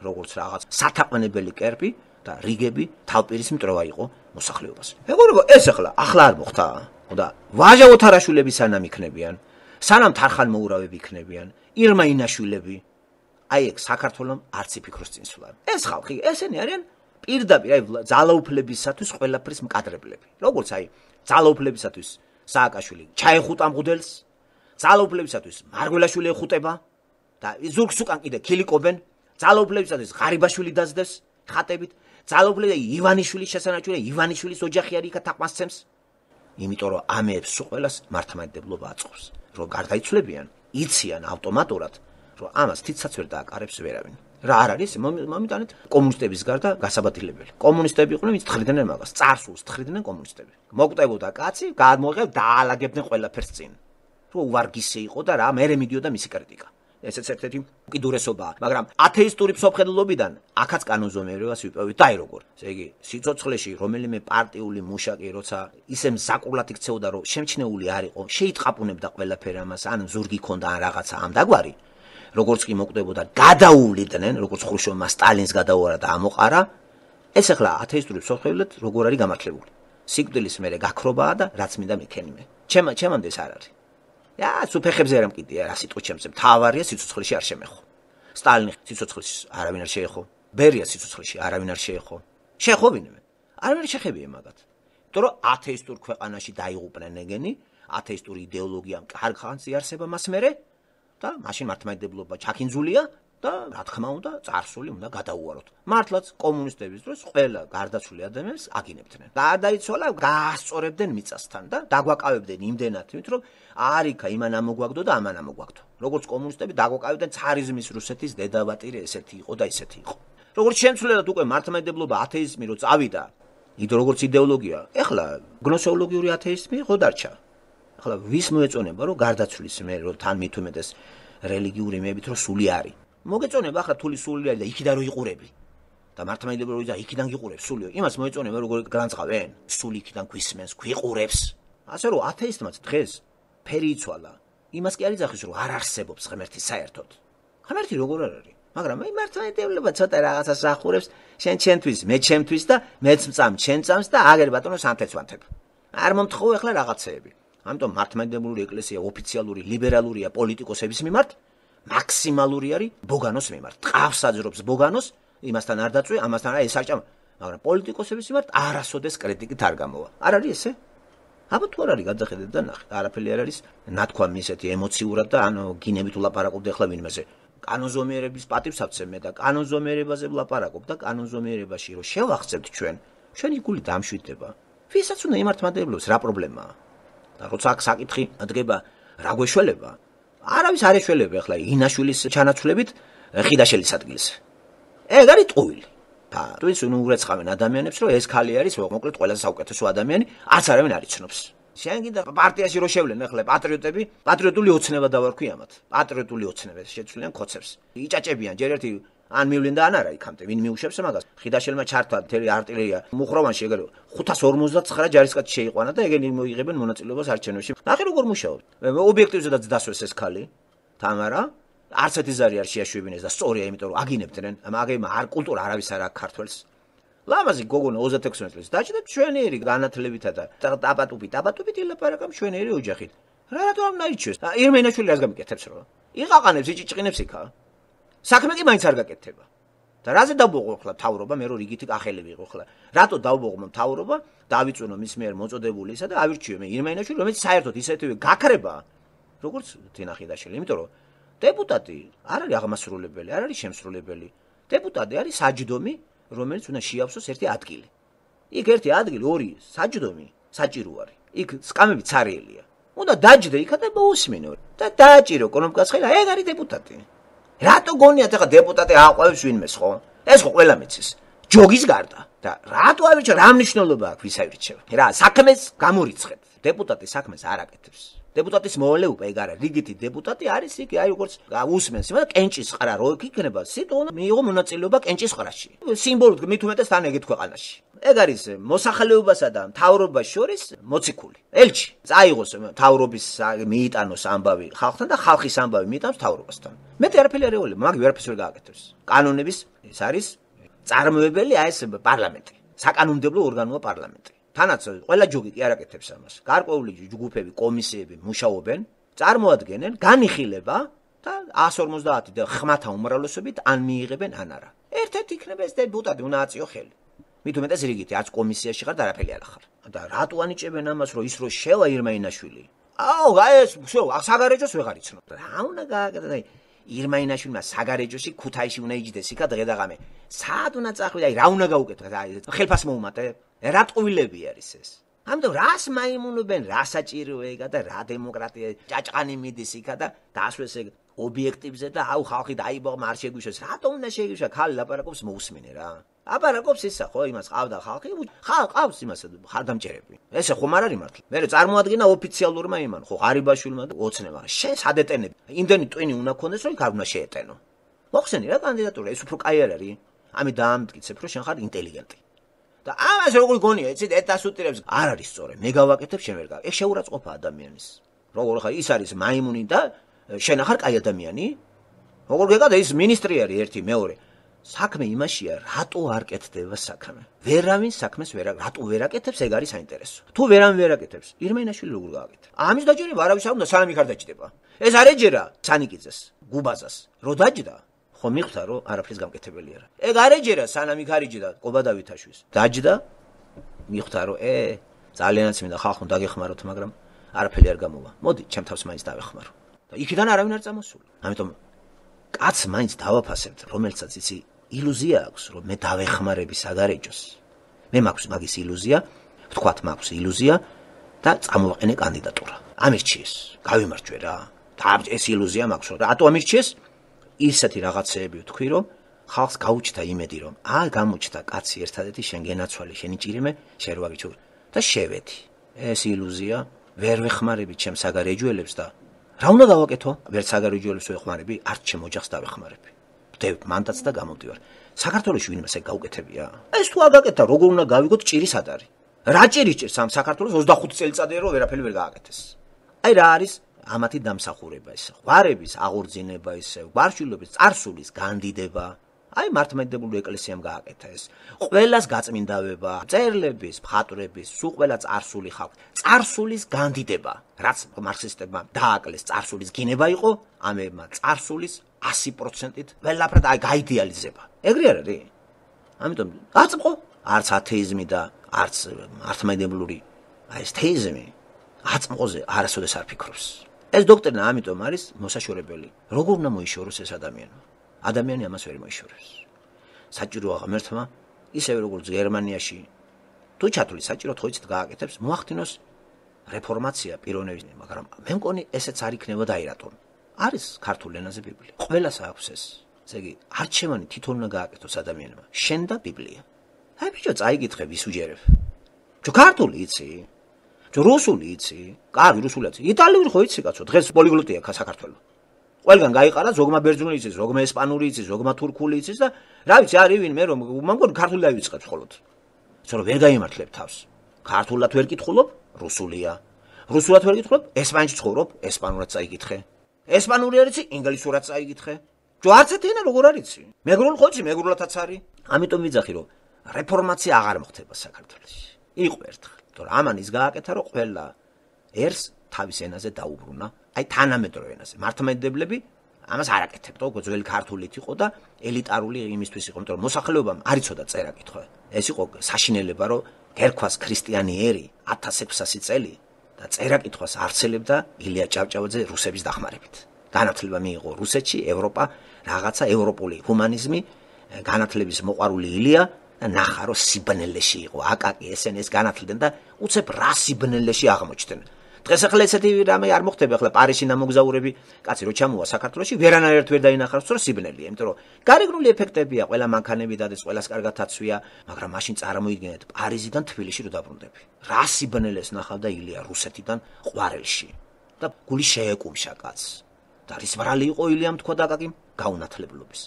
როგორც რაღაც სათაყვანებელი კერპი და რიგები თავპირის მტროვა იყო მოსახლეობას. მეგობრებო, ეს ახლა ახლა არ მოხდა. და ვაჟა ოთარაშვილები სანამ იქნებიან, სანამ თარხანმოურავები იქნებიან, ირმა ინაშვილები, აი ეგ საქართველოს არც იფიქროს წინ სვლა. ეს ხალხი, ესენი არიან პირდაპირ აი ძალაუფლებისათვის ყველაფრის მკადრებლები. როგორც აი ძალაუფლებისათვის სააკაშვილი ჩაეხუტა მღვდელს, ძალაუფლებისათვის მარგველაშვილი ეხუტება და ზურგს უკან კიდე ქილიკობენ, ძალაუფლებისათვის ღარიბაშვილი დაძდებს ხატებით. ძალაუფლება ივანიშვილის შესანარჩუნე, ივანიშვილის ოჯახი არის იქა თაყვანს. იმიტომ რომ ამებს სულ ყველას მართლმადიდებლობა აწყობს. რომ გარდაიცვლებიან, იციან ავტომატურად, რომ ამას თითსაც ვერ დააკარებს ვერავინ. რა არ არის? მომიტანეთ კომუნისტების გარდა გასაბათილებელი. კომუნისტები იყვნენ, ვინც თხრიდნენ მაგას, წარსულს თხრიდნენ კომუნისტები. მოკვდებოდა კაცი, გადმოიღებ დაალაგებდნენ ყველაფერს წინ. რომ ვარგისი იყო და რა მერე მიდიოდა მისი კრიტიკა. ესეც ერთ-ერთი უკიდურესობაა, მაგრამ ათეისტური ფსოფხედლობიდან აქაც კანონზომიერებას ვიპოვეთ და აი როგორ. ესე იგი, სიცოცხლეში რომელიმე პარტიული მუშაკი, როცა ისე მზაკურლად იქცეოდა, რომ შემჩნეული არ იყო, შეიტყაპუნებდა ყველაფერ ამას, ან ზურგი ქონდა ან რაღაცა ამ დაგვარი, როგორც კი მოკვდებოდა, გადაუვლიდნენ, როგორც ხრუშოვმა სტალინს გადაუარა და ამოყარა, ეს ახლა ათეისტური ფსოფხედლად როგორ არის გამართლებული. სიკვდილის მერე გაქრობაა და რაც მინდა მიქენიმე. ჩემ ჩემამდე ეს არ არის. Ja, სუფეხებზე არ ამკიდია რა სიტყვა ჩემზე. თავარია სიცოცხლეში არ შემეხო. სტალინი სიცოცხლეში არავინ არ შეეხო. ბერია სიცოცხლეში არავინ არ შეეხო. შეეხო ვინმე? არავინ შეხებია მაგათ. იმიტომ რომ ათეისტურ ქვეყანაში დაიღუპნენ ეგენი, ათეისტური იდეოლოგია კარგ ხანს იარსება მას მერე და მაშინ მართლმადიდებლობა ჩაქინძულია და რა თქმა უნდა წარსული უნდა გადაუაროთ. მართლაც კომუნისტების დროს ყველა გარდაცვლილი ადამიანს აგინებდნენ. გარდაიცვალა, გაასწორებდნენ მიწასთან და დაგვაკავებდნენ იმდენად, რომ არიქა იმან ამოგვაგდო და ამან ამოგვაგდო. როგორც კომუნისტები დაგვაკავებდნენ ცარიზმის რუსეთის დედავატირე ესეთი იყო და ესეთი იყო. როგორც შემცვლელად უკვე მართლმადიდებლობა ათეიზმი რო წავიდა, იდო როგორც იდეოლოგია, ეხლა გნოსეოლოგიური ათეიზმი ხო დარჩა. ახლა ვის მოეწონება რომ გარდაცვლის მე რომ თან მithumetes რელიგიური მეებით რომ სული არის. მოგეწონება ახლა თული სული არის და იქიდან რო იყურები. და მართლმადიდებლური რო იზა იქიდან გიყურებს სულიო. იმას მოეწონება როგორ განწყავენ? სული იქიდან გვისმენს, გვიყურებს. ასე რომ ათეისტმაც დღეს ფერი იცვალა. იმას კი არ იძახის რომ არ არსებობს ღმერთი საერთოდ. ღმერთი როგორ არ არის? მაგრამ აი მართლმადიდებლობა ცოტა რაღაცას ახურებს, შენ ჩემთვის, მე ჩემთვის და მეც მწამ, შენ წამს და აგერ ბატონო სამთეთს ვანთებ. არ მომთხოვ ახლა რაღაცეები. ამიტომ მართლმადიდებლური ეკლესია ოფიციალური ლიბერალურია პოლიტიკოსების მიმართ, მაქსიმალური არის ბოგანოს მიმართ. ტყავს აძრობს ბოგანოს, იმასთან არ დაწვე, ამასთან არა ესაჭამ, მაგრამ პოლიტიკოსების მიმართ არასოდეს კრიტიკით არ გამოვა. არ არის ესე? აბა თუ არ არის გადახედეთ და ნახეთ, არაფერი არ არის ნათქვამი ისეთი ემოციურად და ანუ გინებით ვლაპარაკობ ახლა ვინმეზე. კანონზომიერების პატივსაცემ მე და კანონზომიერებაზე ვლაპარაკობ და კანონზომიერებაში რომ შევახცებთ ჩვენ, ჩვენი გული დამშვიდდება. ვისაც უნდა იმართმადებლობს რა პრობლემაა? და როცა აქ საკითხი დგება რა გვეშველება? არავის არ ეშველება ახლა ინაშვილის ჩანაცვლებით ხიდაშელის ადგილზე. ეგ არის ტყუილი. და თუის უნურეცხავენ ადამიანებს რომ ეს ხალი არის მოკლედ ყველაზე საუკეთესო ადამიანი, არც არავინ არ იცნობს. შენ კიდე პარტიაში რო შევლენ ახლა პატრიოტები, პატრიოტული ოცნება დავარქვი ამათ. პატრიოტული ოცნებას შეცვლიან ხოცებს. იჭაჭებიან ჯერ ერთი ან მივლენ და ან არა იქამდე, ვინ მიუშვებს მაგას? ხიდაშელმა ჩართვა თელი არტილერია მუხროვანში ეგრე ხუთას ორმოცდათცხრა ჯარისკაცი შეიყვანა და ეგენი მოიღებენ მონაწილეობას არჩევნებში. ნახე როგორ მუშაობს. ობიექტივზედაც დასვეს ეს ხალი. თამარა არც ერთი ზარი არ შეაშვებინეს და სწორია, იმიტომ რომ აგინებდნენ. მაგემა არ კულტურა არავის არ აქვს ქართველს. ლამაზი გოგონა ოცდაექვსი წლის დაჭდა ჩვენერი განათლებითა და დაბატუბი დაბატუბით ილაპარაკა ჩვენერი ოჯახით. რა რატომ არ ნაიჩვეს? ირმენაშვილი რას გამიკეთებს რო? იყაყანებს, იჭიჭყინებს იქა. საქმე კი მაინც არ გაკეთდება. და რაზე დავბოღო ხლა თავრობა, მე რო რიგითი ახელი ვიყო ხლა. რატო დავბოღო თავრობა? დავიწუნო მის მიერ მოწოდებული ისა და ავირჩიო მე ირმენაშვილი, რომელიც საერთოდ ისეთივე გაქრება, როგორც თინახიდაშელი, იმიტომ რომ დეპუტატი არ არის აღმასრულებელი, არ არის შემსრულებელი. დეპუტატი არის საჯდომი, რომელიც უნდა შეავსოს ერთი ადგილი. იქ ერთი ადგილი, ორი საჯდომი, საჭირო არის. იქ სკამები ცარიელია. უნდა დაჯდე იქა და მოусმინო. და დააჭირო კономკაცხელა, ეგ არის დეპუტატი. რატო გონიათ ახლა დეპუტატი აყვევს ვინმეს ხო? ეს ხო ყველა მეცის. ჯოგის გარდა. და რატო ავირჩა, რა მნიშვნელობა აქვს ვის ავირჩევა? რა, საქმეს გამორიცხეთ. დეპუტატი საქმეს არ აკეთებს. დეპუტატის მოვალეობა ეგ არა, რიგითი დეპუტატი არის იქ, აი როგორც უსმენს, მაგრამ კენჭის ყრა რო იქნება, სიტყვა მიიღო მონაწილეობა კენჭის ყრაში. სიმბოლურად მithumetes თან ეგეთ ქვეყანაში. ეგ არის მოსახლეობასა და მთავრობას შორის მოციქული. ელჩი წაიღოს მთავრობის მიიტანოს ამბავი ხალხთან და ხალხის ამბავი მიიტანოს მთავრობასთან. მეტი არაფერი არ ეόλება, მაგ ვერაფერს ვერ გააკეთებს. კანონების ეს არის წარმოებელი აი ეს პარლამენტი. საკანონმდებლო ორგანოა პარლამენტი. თანაც ყველა ჯოგი კი არ აკეთებს ამას. გარკვეული ჯგუფები, კომისიები მუშაობენ, წარმოადგენენ განიხილება და εκατს ორმოცდაათი და ხმათა უმრავლესობით ან მიიღებენ ან არა. ერთ-ერთი იქნება ეს დეპუტატი, უნდა აწიო ხელი. მithumetes რიგითი, არც კომისიაში ხარ და არაფერი არ ხარ. და რატო ანიჭებენ ამას, რომ ის რო შევა ირმაინაშვილი? აუ, აი ეს შო, საგარეჯოს ვეღარ იცნობ. რა უნდა გააკეთო? აი ირმაინაშვილმა საგარეჯოში ქუთაისში უნდა იჯდეს იქა დღე-დაღამე. საათ უნდა წახვიდა, აი რა უნდა გაუკეთო? აი ხელფას მოუმატე. რა ტყუილები არის ეს? ამიტომ რას მაიმუნებენ, რა საჭიროა ეგა და რა დემოკრატია, ჭაჭყანი მიდის იქა და დაასვეს ეგ ობიექტივზე და აუ ხალხი დაიბო არ შეგვიშვეს. რატომ უნდა შეგვიშვა? ხალი ლაპარაკობს მოусმინე რა. აპარაკობს ისა ხო, იმას ყავდა ხალხი, ხალ ყავს იმას ხარდამჭერები. ესე ხომ არ არის მართლა. მე წარმოადგენა ოფიციალურმა იმან, ხო, ღარიბაშვილმა და ოცნება. შენ სადეტენები. იმდენი ტვინი უნდა ქონდეს, რომ იქ არ უნდა შეეტენო. მოხსენი რა კანდიდატურა, ეს უფრო კაი არ არის? ამი დაამტკიცებ, რომ შენ ხარ ინტელიგენტი. და ამას როგორ გონია, იცით, ეტას უტირებს არ არის სწორი. მე გავაკეთებ, შენ ვერ გავაკეთებ. ეს შეურაცხყოფა ადამიანის. როგორ ხარ, ის არის მაიმუნი და შენ ხარ კაი ადამიანი? როგორ გეკადა ის მინისტრი არის ერთი, მეორე. საქმე იმაშია, რატო არ კეთდება საქმე. ვერავინ საქმეს ვერ რატო ვერ აკეთებს, ეგ არის საინტერესო. თუ ვერავინ ვერ აკეთებს, ირმაინაშვილი როგორ გააკეთებს? ამის დაჯერება არავის არ უნდა, სანამ იქ არ დაჯდება. ეს არ ეჯერა ცანიკიძეს, გუბაზას. რო დაჯდა, ხო მიხვდა რომ არაფრის გამკეთებელი არა. ეგ არ ეჯერა სანამ იქ არ იჯდა ყობადავითაშვილს. დაჯდა, მიხვდა რომ ე ძალიანაც მინდა ხალხო დაგეხმაროთ, მაგრამ არაფერი არ გამოვა. მოდი, ჩემ თავს მაინც დავეხმარო. და იქიდან არავინ არ წამოსულა. ამიტომ კაც მაინც დავაფასებთ, რომელსაც იცი ილუზია აქვს, რომ მე დავეხმარები საგარეჯოს. მე მაქვს მაგის ილუზია, ვთქვათ, მაქვს ილუზია და წამოვაყენე კანდიდატურა. ამირჩიეს, გავიმარჯვე რა. და ეს ილუზია მაქვს, რომ რატო ამირჩიეს? ისეთი რაღაცეები ვთქვი, რომ ხალხს გაუჩნდა იმედი, რომ აა გამოჩნდა კაცი ერთადერთი შენ გენაცვალე, შენი ჭირიმე, შენ რო აგიჩო და შევედი. ეს ილუზია ვერ ვეხმარები ჩემ საგარეჯუელებს და რა უნდა გავაკეთო? ვერც საგარეჯუელებს ვეხმარები, არც ჩემ ოჯახს დავეხმარები. ვდებ მანდაც და გამოდივარ. საქართველოში ვინმე ესე გაუკეთებია? ეს თუ არ გაკეთა, როგორ უნდა გავიგოთ ჭირი სად არის? რა ჭირი ჭირს ამ საქართველოს ოცდახუთი წელიწადია რომ ვერაფერი ვერ გააკეთეს. აი რა არის ამათი დამსახურება ეს? ღვარების აღორძინება ისე, გვარშვილობის, წარსულის განდიდება. აი მართლმადიდებლური ეკლესიამ გააკეთა ეს. ყველას გაწმინდავება, წერლების, მხატვრების, სულ ყველა წარსული ხალხ. წარსულის განდიდება, რაც მარქსისტებმა დააკლეს წარსულის გინება იყო, ამებმა წარსულის ასი პროცენტით ყველაფრად აი გაიდეალიზება. ეგრე არ არის? ამიტომ აწმყო, არც ათეიზმი და არც მართლმადიდებლური აი ეს თეიზმი აწმყოზე არასოდეს არ ფიქრობს. ეს დოქტრინა ამიტომ არის მოსაშორებელი. როგორ უნდა მოიშოროს ეს ადამიანმა? ადამიანი ამას ვერ მოიშორებს. საჭიროა ღმერთმა, ისევე როგორც გერმანიაში თუ ჩათვლი საჭიროდ ხო იცით გააკეთებს, მოახდინოს რეფორმაცია პიროვნების, მაგრამ მე მგონი ესეც არ იქნება და აი რატომ. არის ქართულ ენაზე ბიბლია. ყველას აქვს ეს. ესე იგი, არჩევანი თვითონ უნდა გააკეთოს ადამიანმა. შენ და ბიბლია. აი ბიჭო, წაიგითხე ვისუჯერებ. ჯო ქართული იცი? ჯო რუსული იცი? კარგი, რუსული იცი. იტალიური ხო იცი კაცო? დღეს პოლიგლოტია საქართველო. ყველგან გაიყარა, ზოგმა ბერძნული იცის, ზოგმა ესპანური იცის, ზოგმა თურქული იცის და რა ვიცი, არის ვინმე რომ მგონი ქართული დაივიწყებს ხოლოდ. ისე რომ ვერ გაიმართლებ თავს. ქართულად ვერ კითხულობ, რუსულია. რუსულად ვერ კითხულობ, ესპანეთში ცხოვრობ, ესპანურად წაიკითხე. ესპანური არ იცი, ინგლისურად წაიკითხე. ჯო არც ერთი ენა როგორ არ იცი? მეგრული ხო იცი, მეგრულათაც არის. ამიტომ ვიძახი რომ რეფორმაცია აღარ მოხდება საქართველოში. იყო ერთხელ, თორე ამან ის გააკეთა რომ ყველა ერს თავის ენაზე დაუბრუნა. აი თანამედროვე ენაზე. მართლმადიდებლები ამას არ აკეთებდა, უკვე ძველი ქართულით იყო და ელიტარული იმისთვის იყო, იმიტომ რომ მოსახლეობამ არ იცოდა წერა კითხვა. ეს იყო საშინელება, რომ გერქვას ქრისტიანი ერი ათას ექვსასი წელი და წერა კითხვას არცელებდა ილია ჭავჭავაძე რუსების დახმარებით. განათლება მიიღო რუსეთში, ევროპა, რაღაცა ევროპული ჰუმანიზმი, განათლების მოყვარული ილია და ნახა რომ სიბნელეში იყო, აკაკი ესენ ეს განათლდნენ და უცებ რა სიბნელეში აღმოჩნდნენ. დღეს ახლა ესეთი რამე არ მოხდება, ახლა პარიზში ნამოგზაურები, კაცი რო ჩამოვა საქართველოში, ვერანაირად ვერ დაინახავს, რომ სიბნელეა, იმიტომ რომ გარეგნული ეფექტებია, ყველა მანქანები დადეს, ყველას კარგად აცვია, მაგრამ მაშინ წარმოიდგინეთ პარიზიდან თბილისში რო დაბრუნდები. რა სიბნელეს ნახავდა ილია რუსეთიდან ყვარელში და გული შეეკუმშა კაცს. და რის ბრალი იყო ილიამ თქვა და აკაკიმ გაუნათლებლობის.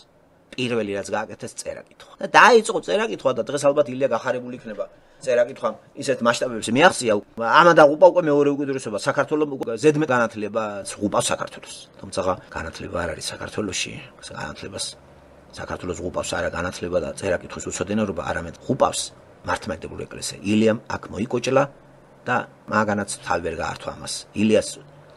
პირველი რაც გააკეთეს წერა კითხვა. და დაიწყო წერა კითხვა და დღეს ალბათ ილია გახარებული იქნება. წერა კითხვა ისეთ მასშტაბებში მიაღწია. ამა და უპა უკვე მეორე უკიდურესობა საქართველოს ზედმეტ განათლებას უპავს საქართველოს. თუმცა განათლება არ არის საქართველოში. განათლებას საქართველოს უპავს არა განათლება და წერა კითხვის უცოდნელობა, არამედ უპავს მართლმადიდებლური ეკლესია. ილიამ აქ მოიკოჭლა და მაგანაც თავი ვერ გაართვა ამას. ილიას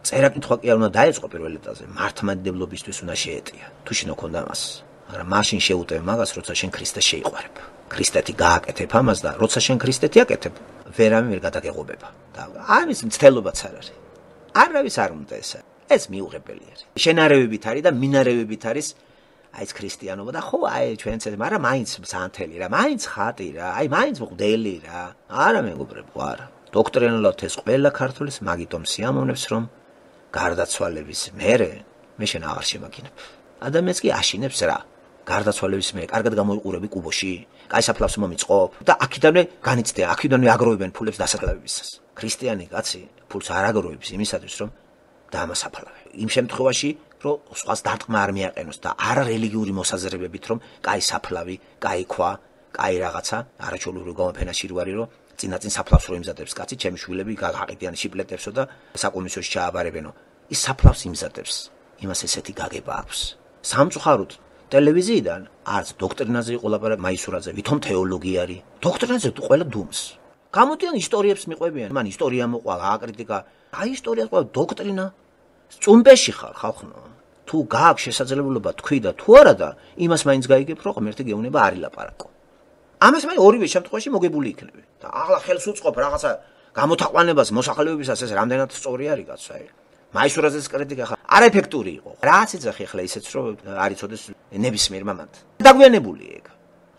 წერა კითხვა კი არ უნდა დაეწყო პირველ ეტაპზე, მართლმადიდებლობისთვის უნდა შეეტია. თუ შენ ოქონდა მას, მაგრამ მაშინ შეუტევ მაგას, როცა შენ ქრისტეს შეიყვარებ. ქრისტეთი გააკეთებ ამას და როცა შენ ქრისტეთი აკეთებ, ვერავინ ვერ გადაგეღობება. და ამის მცდელობაც არ არის. არავის არ უნდა ესა. ეს მიუღებელი არის. შენარევებით არის და მინარევებით არის აი ეს ქრისტიანობა და ხო აი ჩვენც ეს, მაგრამ მაინც სანთელი რა, მაინც ხატი რა, აი მაინც მღვდელი რა. არა მეგობრებო, არა. დოქტრინულად ეს ყველა ქართულის მაგიტომ სიამოვნებს რომ გარდაცვალების მერე მე შენ აღარ შემაგინებ. ადამიანს კი აშინებს რა. გარდაცვალების მერე კარგად გამოიყურები კუბოში, კაი საფლავს მომიწყობ და აქიდანვე განიცდე, აქიდანვე აგროვებენ ფულებს დასაფლავებისას. ქრისტიანი კაცი ფულს არ აგროვებს იმისათვის რომ დაამასაფლავე. იმ შემთხვევაში რომ სხვას დარტყმა არ მიაყენოს და არა რელიგიური მოსაზრებებით რომ კაი საფლავი, კაი ქვა, კაი რაღაცა, არაჩვეულებრივი გამოფენაში რვარი რომ წინაწინ საფლავს რო იმზადებს კაცი, ჩემი შვილები გაყიდიან შიპლეტებსო და საკომისოში ჩააბარებენო. ის საფლავს იმზადებს. იმას ესეთი გაგება აქვს. სამწუხაროდ ტელევიზიიდან არც დოქტრინაზე იყო ლაპარაკი, მაისურაძე, ვითომ თეოლოგია არის. დოქტრინაზე თუ ყველა დუმს. გამოდიან ისტორიებს მიყვებიან, მან ისტორია მოყვა, გააკრიტიკა. აი ისტორიას ყვა დოქტრინა. წუმპეში ხარ ხალხო. თუ გააქვს შესაძლებლობა თქვი და თუ არა და იმას მაინც გაიგებ, რომ ღმერთი გეუბნება არ ილაპარაკო. ამას მე ორივე შემთხვევაში მოგებული იქნები. და ახლა ხელს უწყობ რაღაცა გამოთაყვანებას, მოსახლეობისას ეს რამდენად სწორი არის კაცო აი. მაისურაძეს კრიტიკა ხა არაეფექტური იყო. რაც ეძახი ახლა ისეც რომ არ იცოდეს ნებისმიერ მამად. დაგვიანებული ეგ.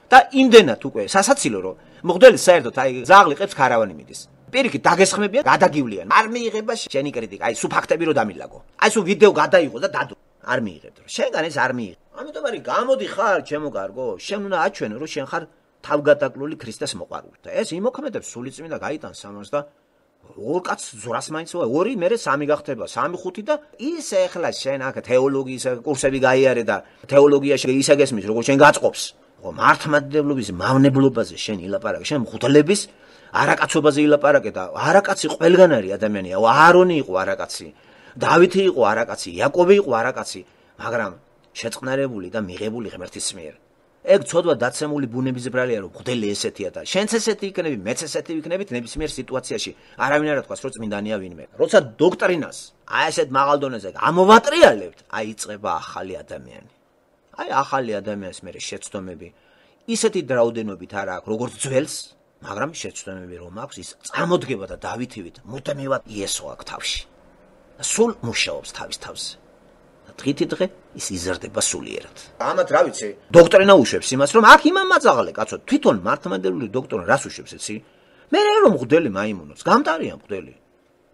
და იმდენად უკვე სასაცილო რომ მღვდელი საერთოდ აი ზაღლი ყებს ქარავანი მიდის. პირიქით დაგესხმებიან, გადაგივლიან. არ მიიღება შენი კრიტიკა. აი სუ ფაქტები რომ დამილაგო. აი სუ ვიდეო გადაიღო და დადო. არ მიიღებ. შენგან ეს არ მიიღე. ამიტომ არის გამოდი ხარ ჩემო კარგო, შენ უნდა აჩვენო რომ შენ ხარ თავგადაკლული ქრისტეს მოყვარული. და ეს იმოქმედებს სულიწმინდა გაიტანს ამას და ორ კაც ზრას მაინც ორი მერე სამი გახდება სამი ხუთი და ის ეხლა შენ აქ თეოლოგიის კურსები გაიარე და თეოლოგიაში ისა გესმის როგორ შენ გაწყობს ხო მართლმადიდებლობის მავნებლობაზე შენ ილაპარაკე შენ მღვდლების არაკაცობაზე ილაპარაკე და არაკაცი ყველგან არის ადამიანია აარონი იყო არაკაცი დავითი იყო არაკაცი იაკობი იყო არაკაცი მაგრამ შეწყნარებული და მიღებული ღმერთის მიერ ეგ ცოდვა დაცემული ბუნების ბრალია რომ მღვდელი ესეთია და შენც ესეთი იქნები მეც ესეთი ვიქნებით ნებისმიერ სიტუაციაში არავინ არ ეთქვას რომ წმინდანია ვინმე როცა დოქტრინას აი ესეთ მაღალ დონეზე გამოვატრიალებთ აი იწყება ახალი ადამიანი აი ახალი ადამიანის მერე შეცდომები ისეთი რაოდენობით არ აქვს როგორც ძველს მაგრამ შეცდომები რომ აქვს ის წამოდგება და დავითივით მუდმივად იესო აქვს თავში და სულ მუშაობს თავის თავზე დღითი დღე ის იზრდება სულიერად. ამათ რა ვიცი, დოქტრინა უშვებს იმას, რომ აქ იმამ მაწაღლე, კაცო, თვითონ მართლმადიდებლური დოქტრინა რას უშვებს იცი? მე რომ მღვდელი მაიმუნობს, გამტარია მღვდელი.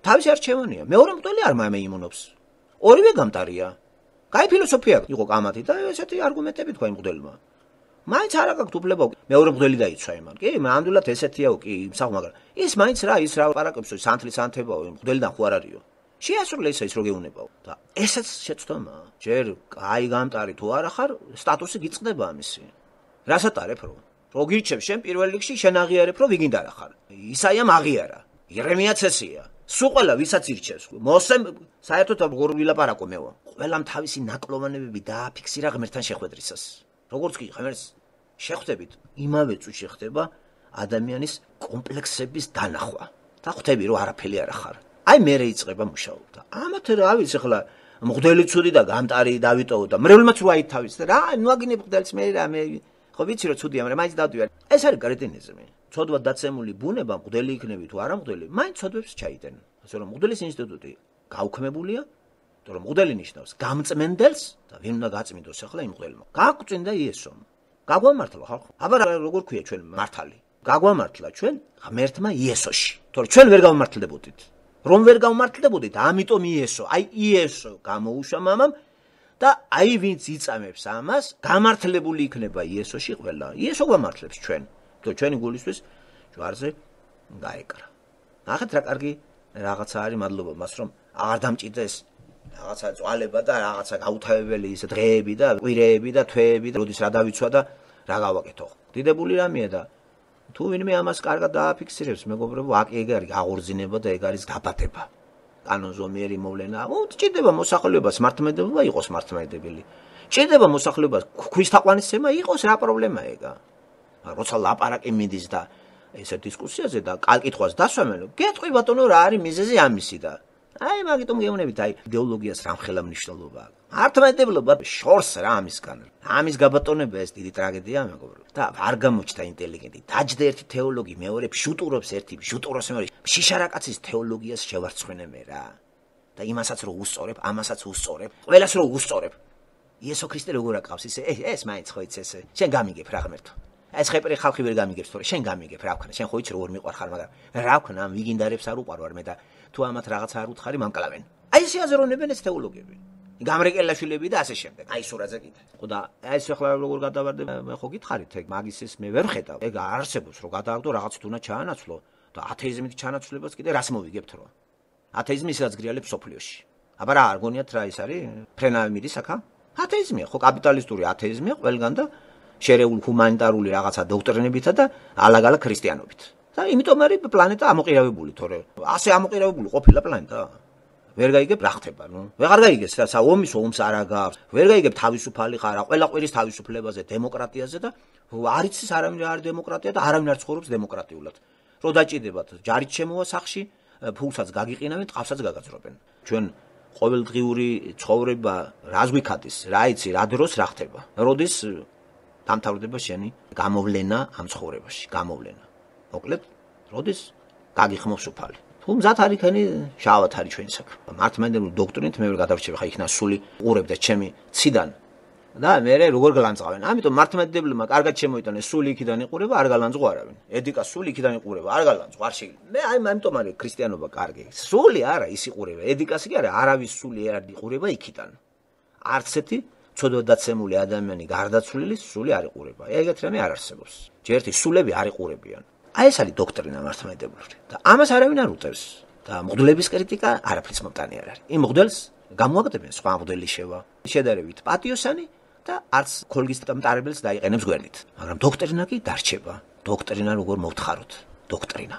თავისი არჩევანია, მეორე მღვდელი არ მაიმუნობს. ორივე გამტარია. კაი ფილოსოფია იყო კამათი და ესეთი არგუმენტები თქვა იმ მღვდელმა. მაინც არ აქვს უფლება მეორე მღვდელი დაიცვა იმან. კი, ნამდვილად ესეთიაო კი, იმსახ მაგრამ ის მაინც რა ის რა პარაკებსო, სანთლის ანთებაო, მღვდელიდან ხო არ არისო. შეასრულე ისე ის რო გეუნებაო და ესეც შეცდომა ჯერ კაი გამტარი თუ არა ხარ სტატუსი გიწყდება ამისი რას ატარებ რო რო გირჩევ შენ პირველ რიგში შენ აღიარებ რომ ვიგინდა რა ხარ ისაიამ აღიარა იერემიაც ესეა სულ ყველა ვისაც ირჩევს მოსემ საერთოდ როგორ ვილაპარაკო მეო ყველამ თავისი ნაკლოვანებები დააფიქსირა ღმერთთან შეხვედრისას როგორც კი ღმერთს შეხვდებით იმავე წუთში ხდება ადამიანის კომპლექსების დანახვა და ხვდები რომ არაფერი არ ახარ აი მე რეიწყება მუშაობა. ამათ რა ვიცი ხლა მღვდელი ცუდი და გამტარი დავითოო და მრევლმაც რო აითავის და რა ნუაგინე მღვდელს მე რა მე ხო ვიცი რომ ცუდია მაგრამ მაინც დავდივარ. ეს არის კრეტინიზმი. ცოდვა დაცემული ბუნება მღვდელი იქნები თუ არა მღვდელი, მაინც ცოდვებს ჩაიდენ. ასე რომ მღვდელის ინსტიტუტი გაუქმებულია, იმიტომ რომ მღვდელი ნიშნავს გამწმენდელს და ვინ უნდა გაწმინდოს ახლა იმ მღვდელმა. გაგვწმინდა იესომ. გაგვამართლა ხალხო. აბა როგორ ქვია ჩვენ მართალი? გაგვამართლა ჩვენ ღმერთმა იესოში. თორე ჩვენ ვერ გავმართლებოდით. რომ ვერ გავმართლებოდით, ამიტომ იესო, აი იესო გამოუშვა მამამ და აი ვინც იწამებს ამას, გამართლებული იქნება იესოში ყველა. იესო გამართლებს ჩვენ. თუ ჩვენი გულისთვის ჯვარზე გაეკრა. ნახეთ რა კარგი რაღაცა არის მადლობა მას რომ აღარ დამჭირდეს რაღაცა წვალება და რაღაცა გაუთავებელი ის დღეები და კვირეები და თვეები და როდის რა დავიცვა და რა გავაკეთო. დიდებული რამეა და თუ ვინმე ამას კარგად დააფიქსირებს, მეგობრებო, აქ ეგ არის აღორძინება და ეგ არის გაბატება. კანონზომიერი მოვლენა. ჭირდება მოსახლეობას მართლმადიდებლობა იყოს მართლმადიდებელი. ჭირდება მოსახლეობას ქრისტაყვანისცემა იყოს რა პრობლემა ეგა. როცა ლაპარაკი მიდის და ესე დისკუსიაზე და კალკითხვას დასვამენ, გეტყვი ბატონო რა არის მიზეზი ამისი და აი მაგიტომ გეუბნებით, აი იდეოლოგიას რამხელა მნიშვნელობა აქვს. მართლმადიდებლობა შორს რა ამისგან. ამის გაბატონება ეს დიდი ტრაგედია მეგობრებო. და არ გამოჩნდა ინტელიგენტი. დაჯდა ერთი თეოლოგი, მეორე ფშუტურობს ერთი, ფშუტურობს მეორე. შიშარაკაცის თეოლოგიას შევარცხვენე მე რა. და იმასაც რო უსწორებ, ამასაც უსწორებ, ყველას რო უსწორებ. იესო ქრისტე როგორ აკავს ისე? ეს მაინც ხო იცი ესე. შენ გამიგებ რა ღმერთო. ეს ხეპრი ხალხი ვერ გამიგებს, თორე შენ გამიგებ რა ვქნა. შენ ხო იცი როგორ მიყვარხარ, მაგრამ რა ვქნა, ამ ვიგინდარებს არ უყარვარ მე და თუ ამათ რაღაცა არ უთხარი მამკლავენ. აი ესე აზროვნებენ ეს თეოლოგები. გამრეკელაშვილები და ასე შემდეგ. აი სურაძე კიდე. ხო და აი ეს ახლა როგორ გადავარდე მე ხო გითხარით ეგ მაგის ეს მე ვერ ხედავ. ეგ არ არსებობს რომ გადააგდო რაღაც თუნა ჩაანაცვლო და ათეიზმით ჩანაცვლებას კიდე რას მოვიგებთ რო. ათეიზმი ისაც გრიალებს სოფლიოში. აბა რა არ გონიათ რა ის არის? ფრენავი მიდის აქა? ათეიზმია ხო კაპიტალისტური ათეიზმია ყველგან და შერეული ჰუმანიტარული რაღაცა დოქტრინებითა და ალაგ-ალაგ ქრისტიანობით. და იმიტომ არის პლანეტა ამოყირავებული, თორე ასე ამოყირავებული ყოფილა პლანეტა. ვერ გაიგებ რა ხდება, ნუ. ვეღარ გაიგეს რა, ომის ომს არ აგავს. ვერ გაიგებ თავისუფალი ხარ, ყველა ყვირის თავისუფლებაზე, დემოკრატიაზე და არ იცის არავინ რა არის დემოკრატია და არავინ არ ცხოვრობს დემოკრატიულად. რო დაჭიდებათ, ჯარით შემოვა სახში, ფულსაც გაგიყინავენ, ტყავსაც გაგაძრობენ. ჩვენ ყოველდღიური ცხოვრება რას გვიქადის, რა იცი, რა დროს რა ხდება. როდის დამთავრდება შენი გამოვლენა ამ ცხოვრებაში, გამოვლენა. მოკლედ, როდის გაგიხმობს უფალი. თუ მზად არის ქენი შავად არის ჩვენი საქმე. მართლმადიდებლური დოქტრინით მე ვერ გადავრჩები, ხა იქნა სული უყურებდა ჩემი ციდან. და მე როგორ გლანძღავენ. ამიტომ მართლმადიდებლებმა კარგად შემოიტანეს სული იქიდან იყურება, არ გალანძღვა არავინ. ედიკა სული იქიდან იყურება, არ გალანძღვა, არ შეიძლება. მე აი ამიტომ არის ქრისტიანობა კარგი. სული არა ის იყურება, ედიკას კი არა, არავის სული არ იყურება იქიდან. არც ერთი ცოდვადაცემული ადამიანი გარდაცვლილი სული არ იყურება. ეგეთ რამე არ არსებობს. ჯერთი სულები არ იყურებიან. აი ეს არის დოქტრინა მართლმადიდებლური და ამას არავინ არ უწევს და მღვდლების კრიტიკა არაფრის მომტანი არ არის. იმ მღვდელს გამოაკდებენ სხვა მღვდელი შევა, შედარებით პატიოსანი და არც ქოლგის მტარებელს დაიყენებს გვერდით. მაგრამ დოქტრინა კი დარჩება. დოქტრინა როგორ მოვთხაროთ? დოქტრინა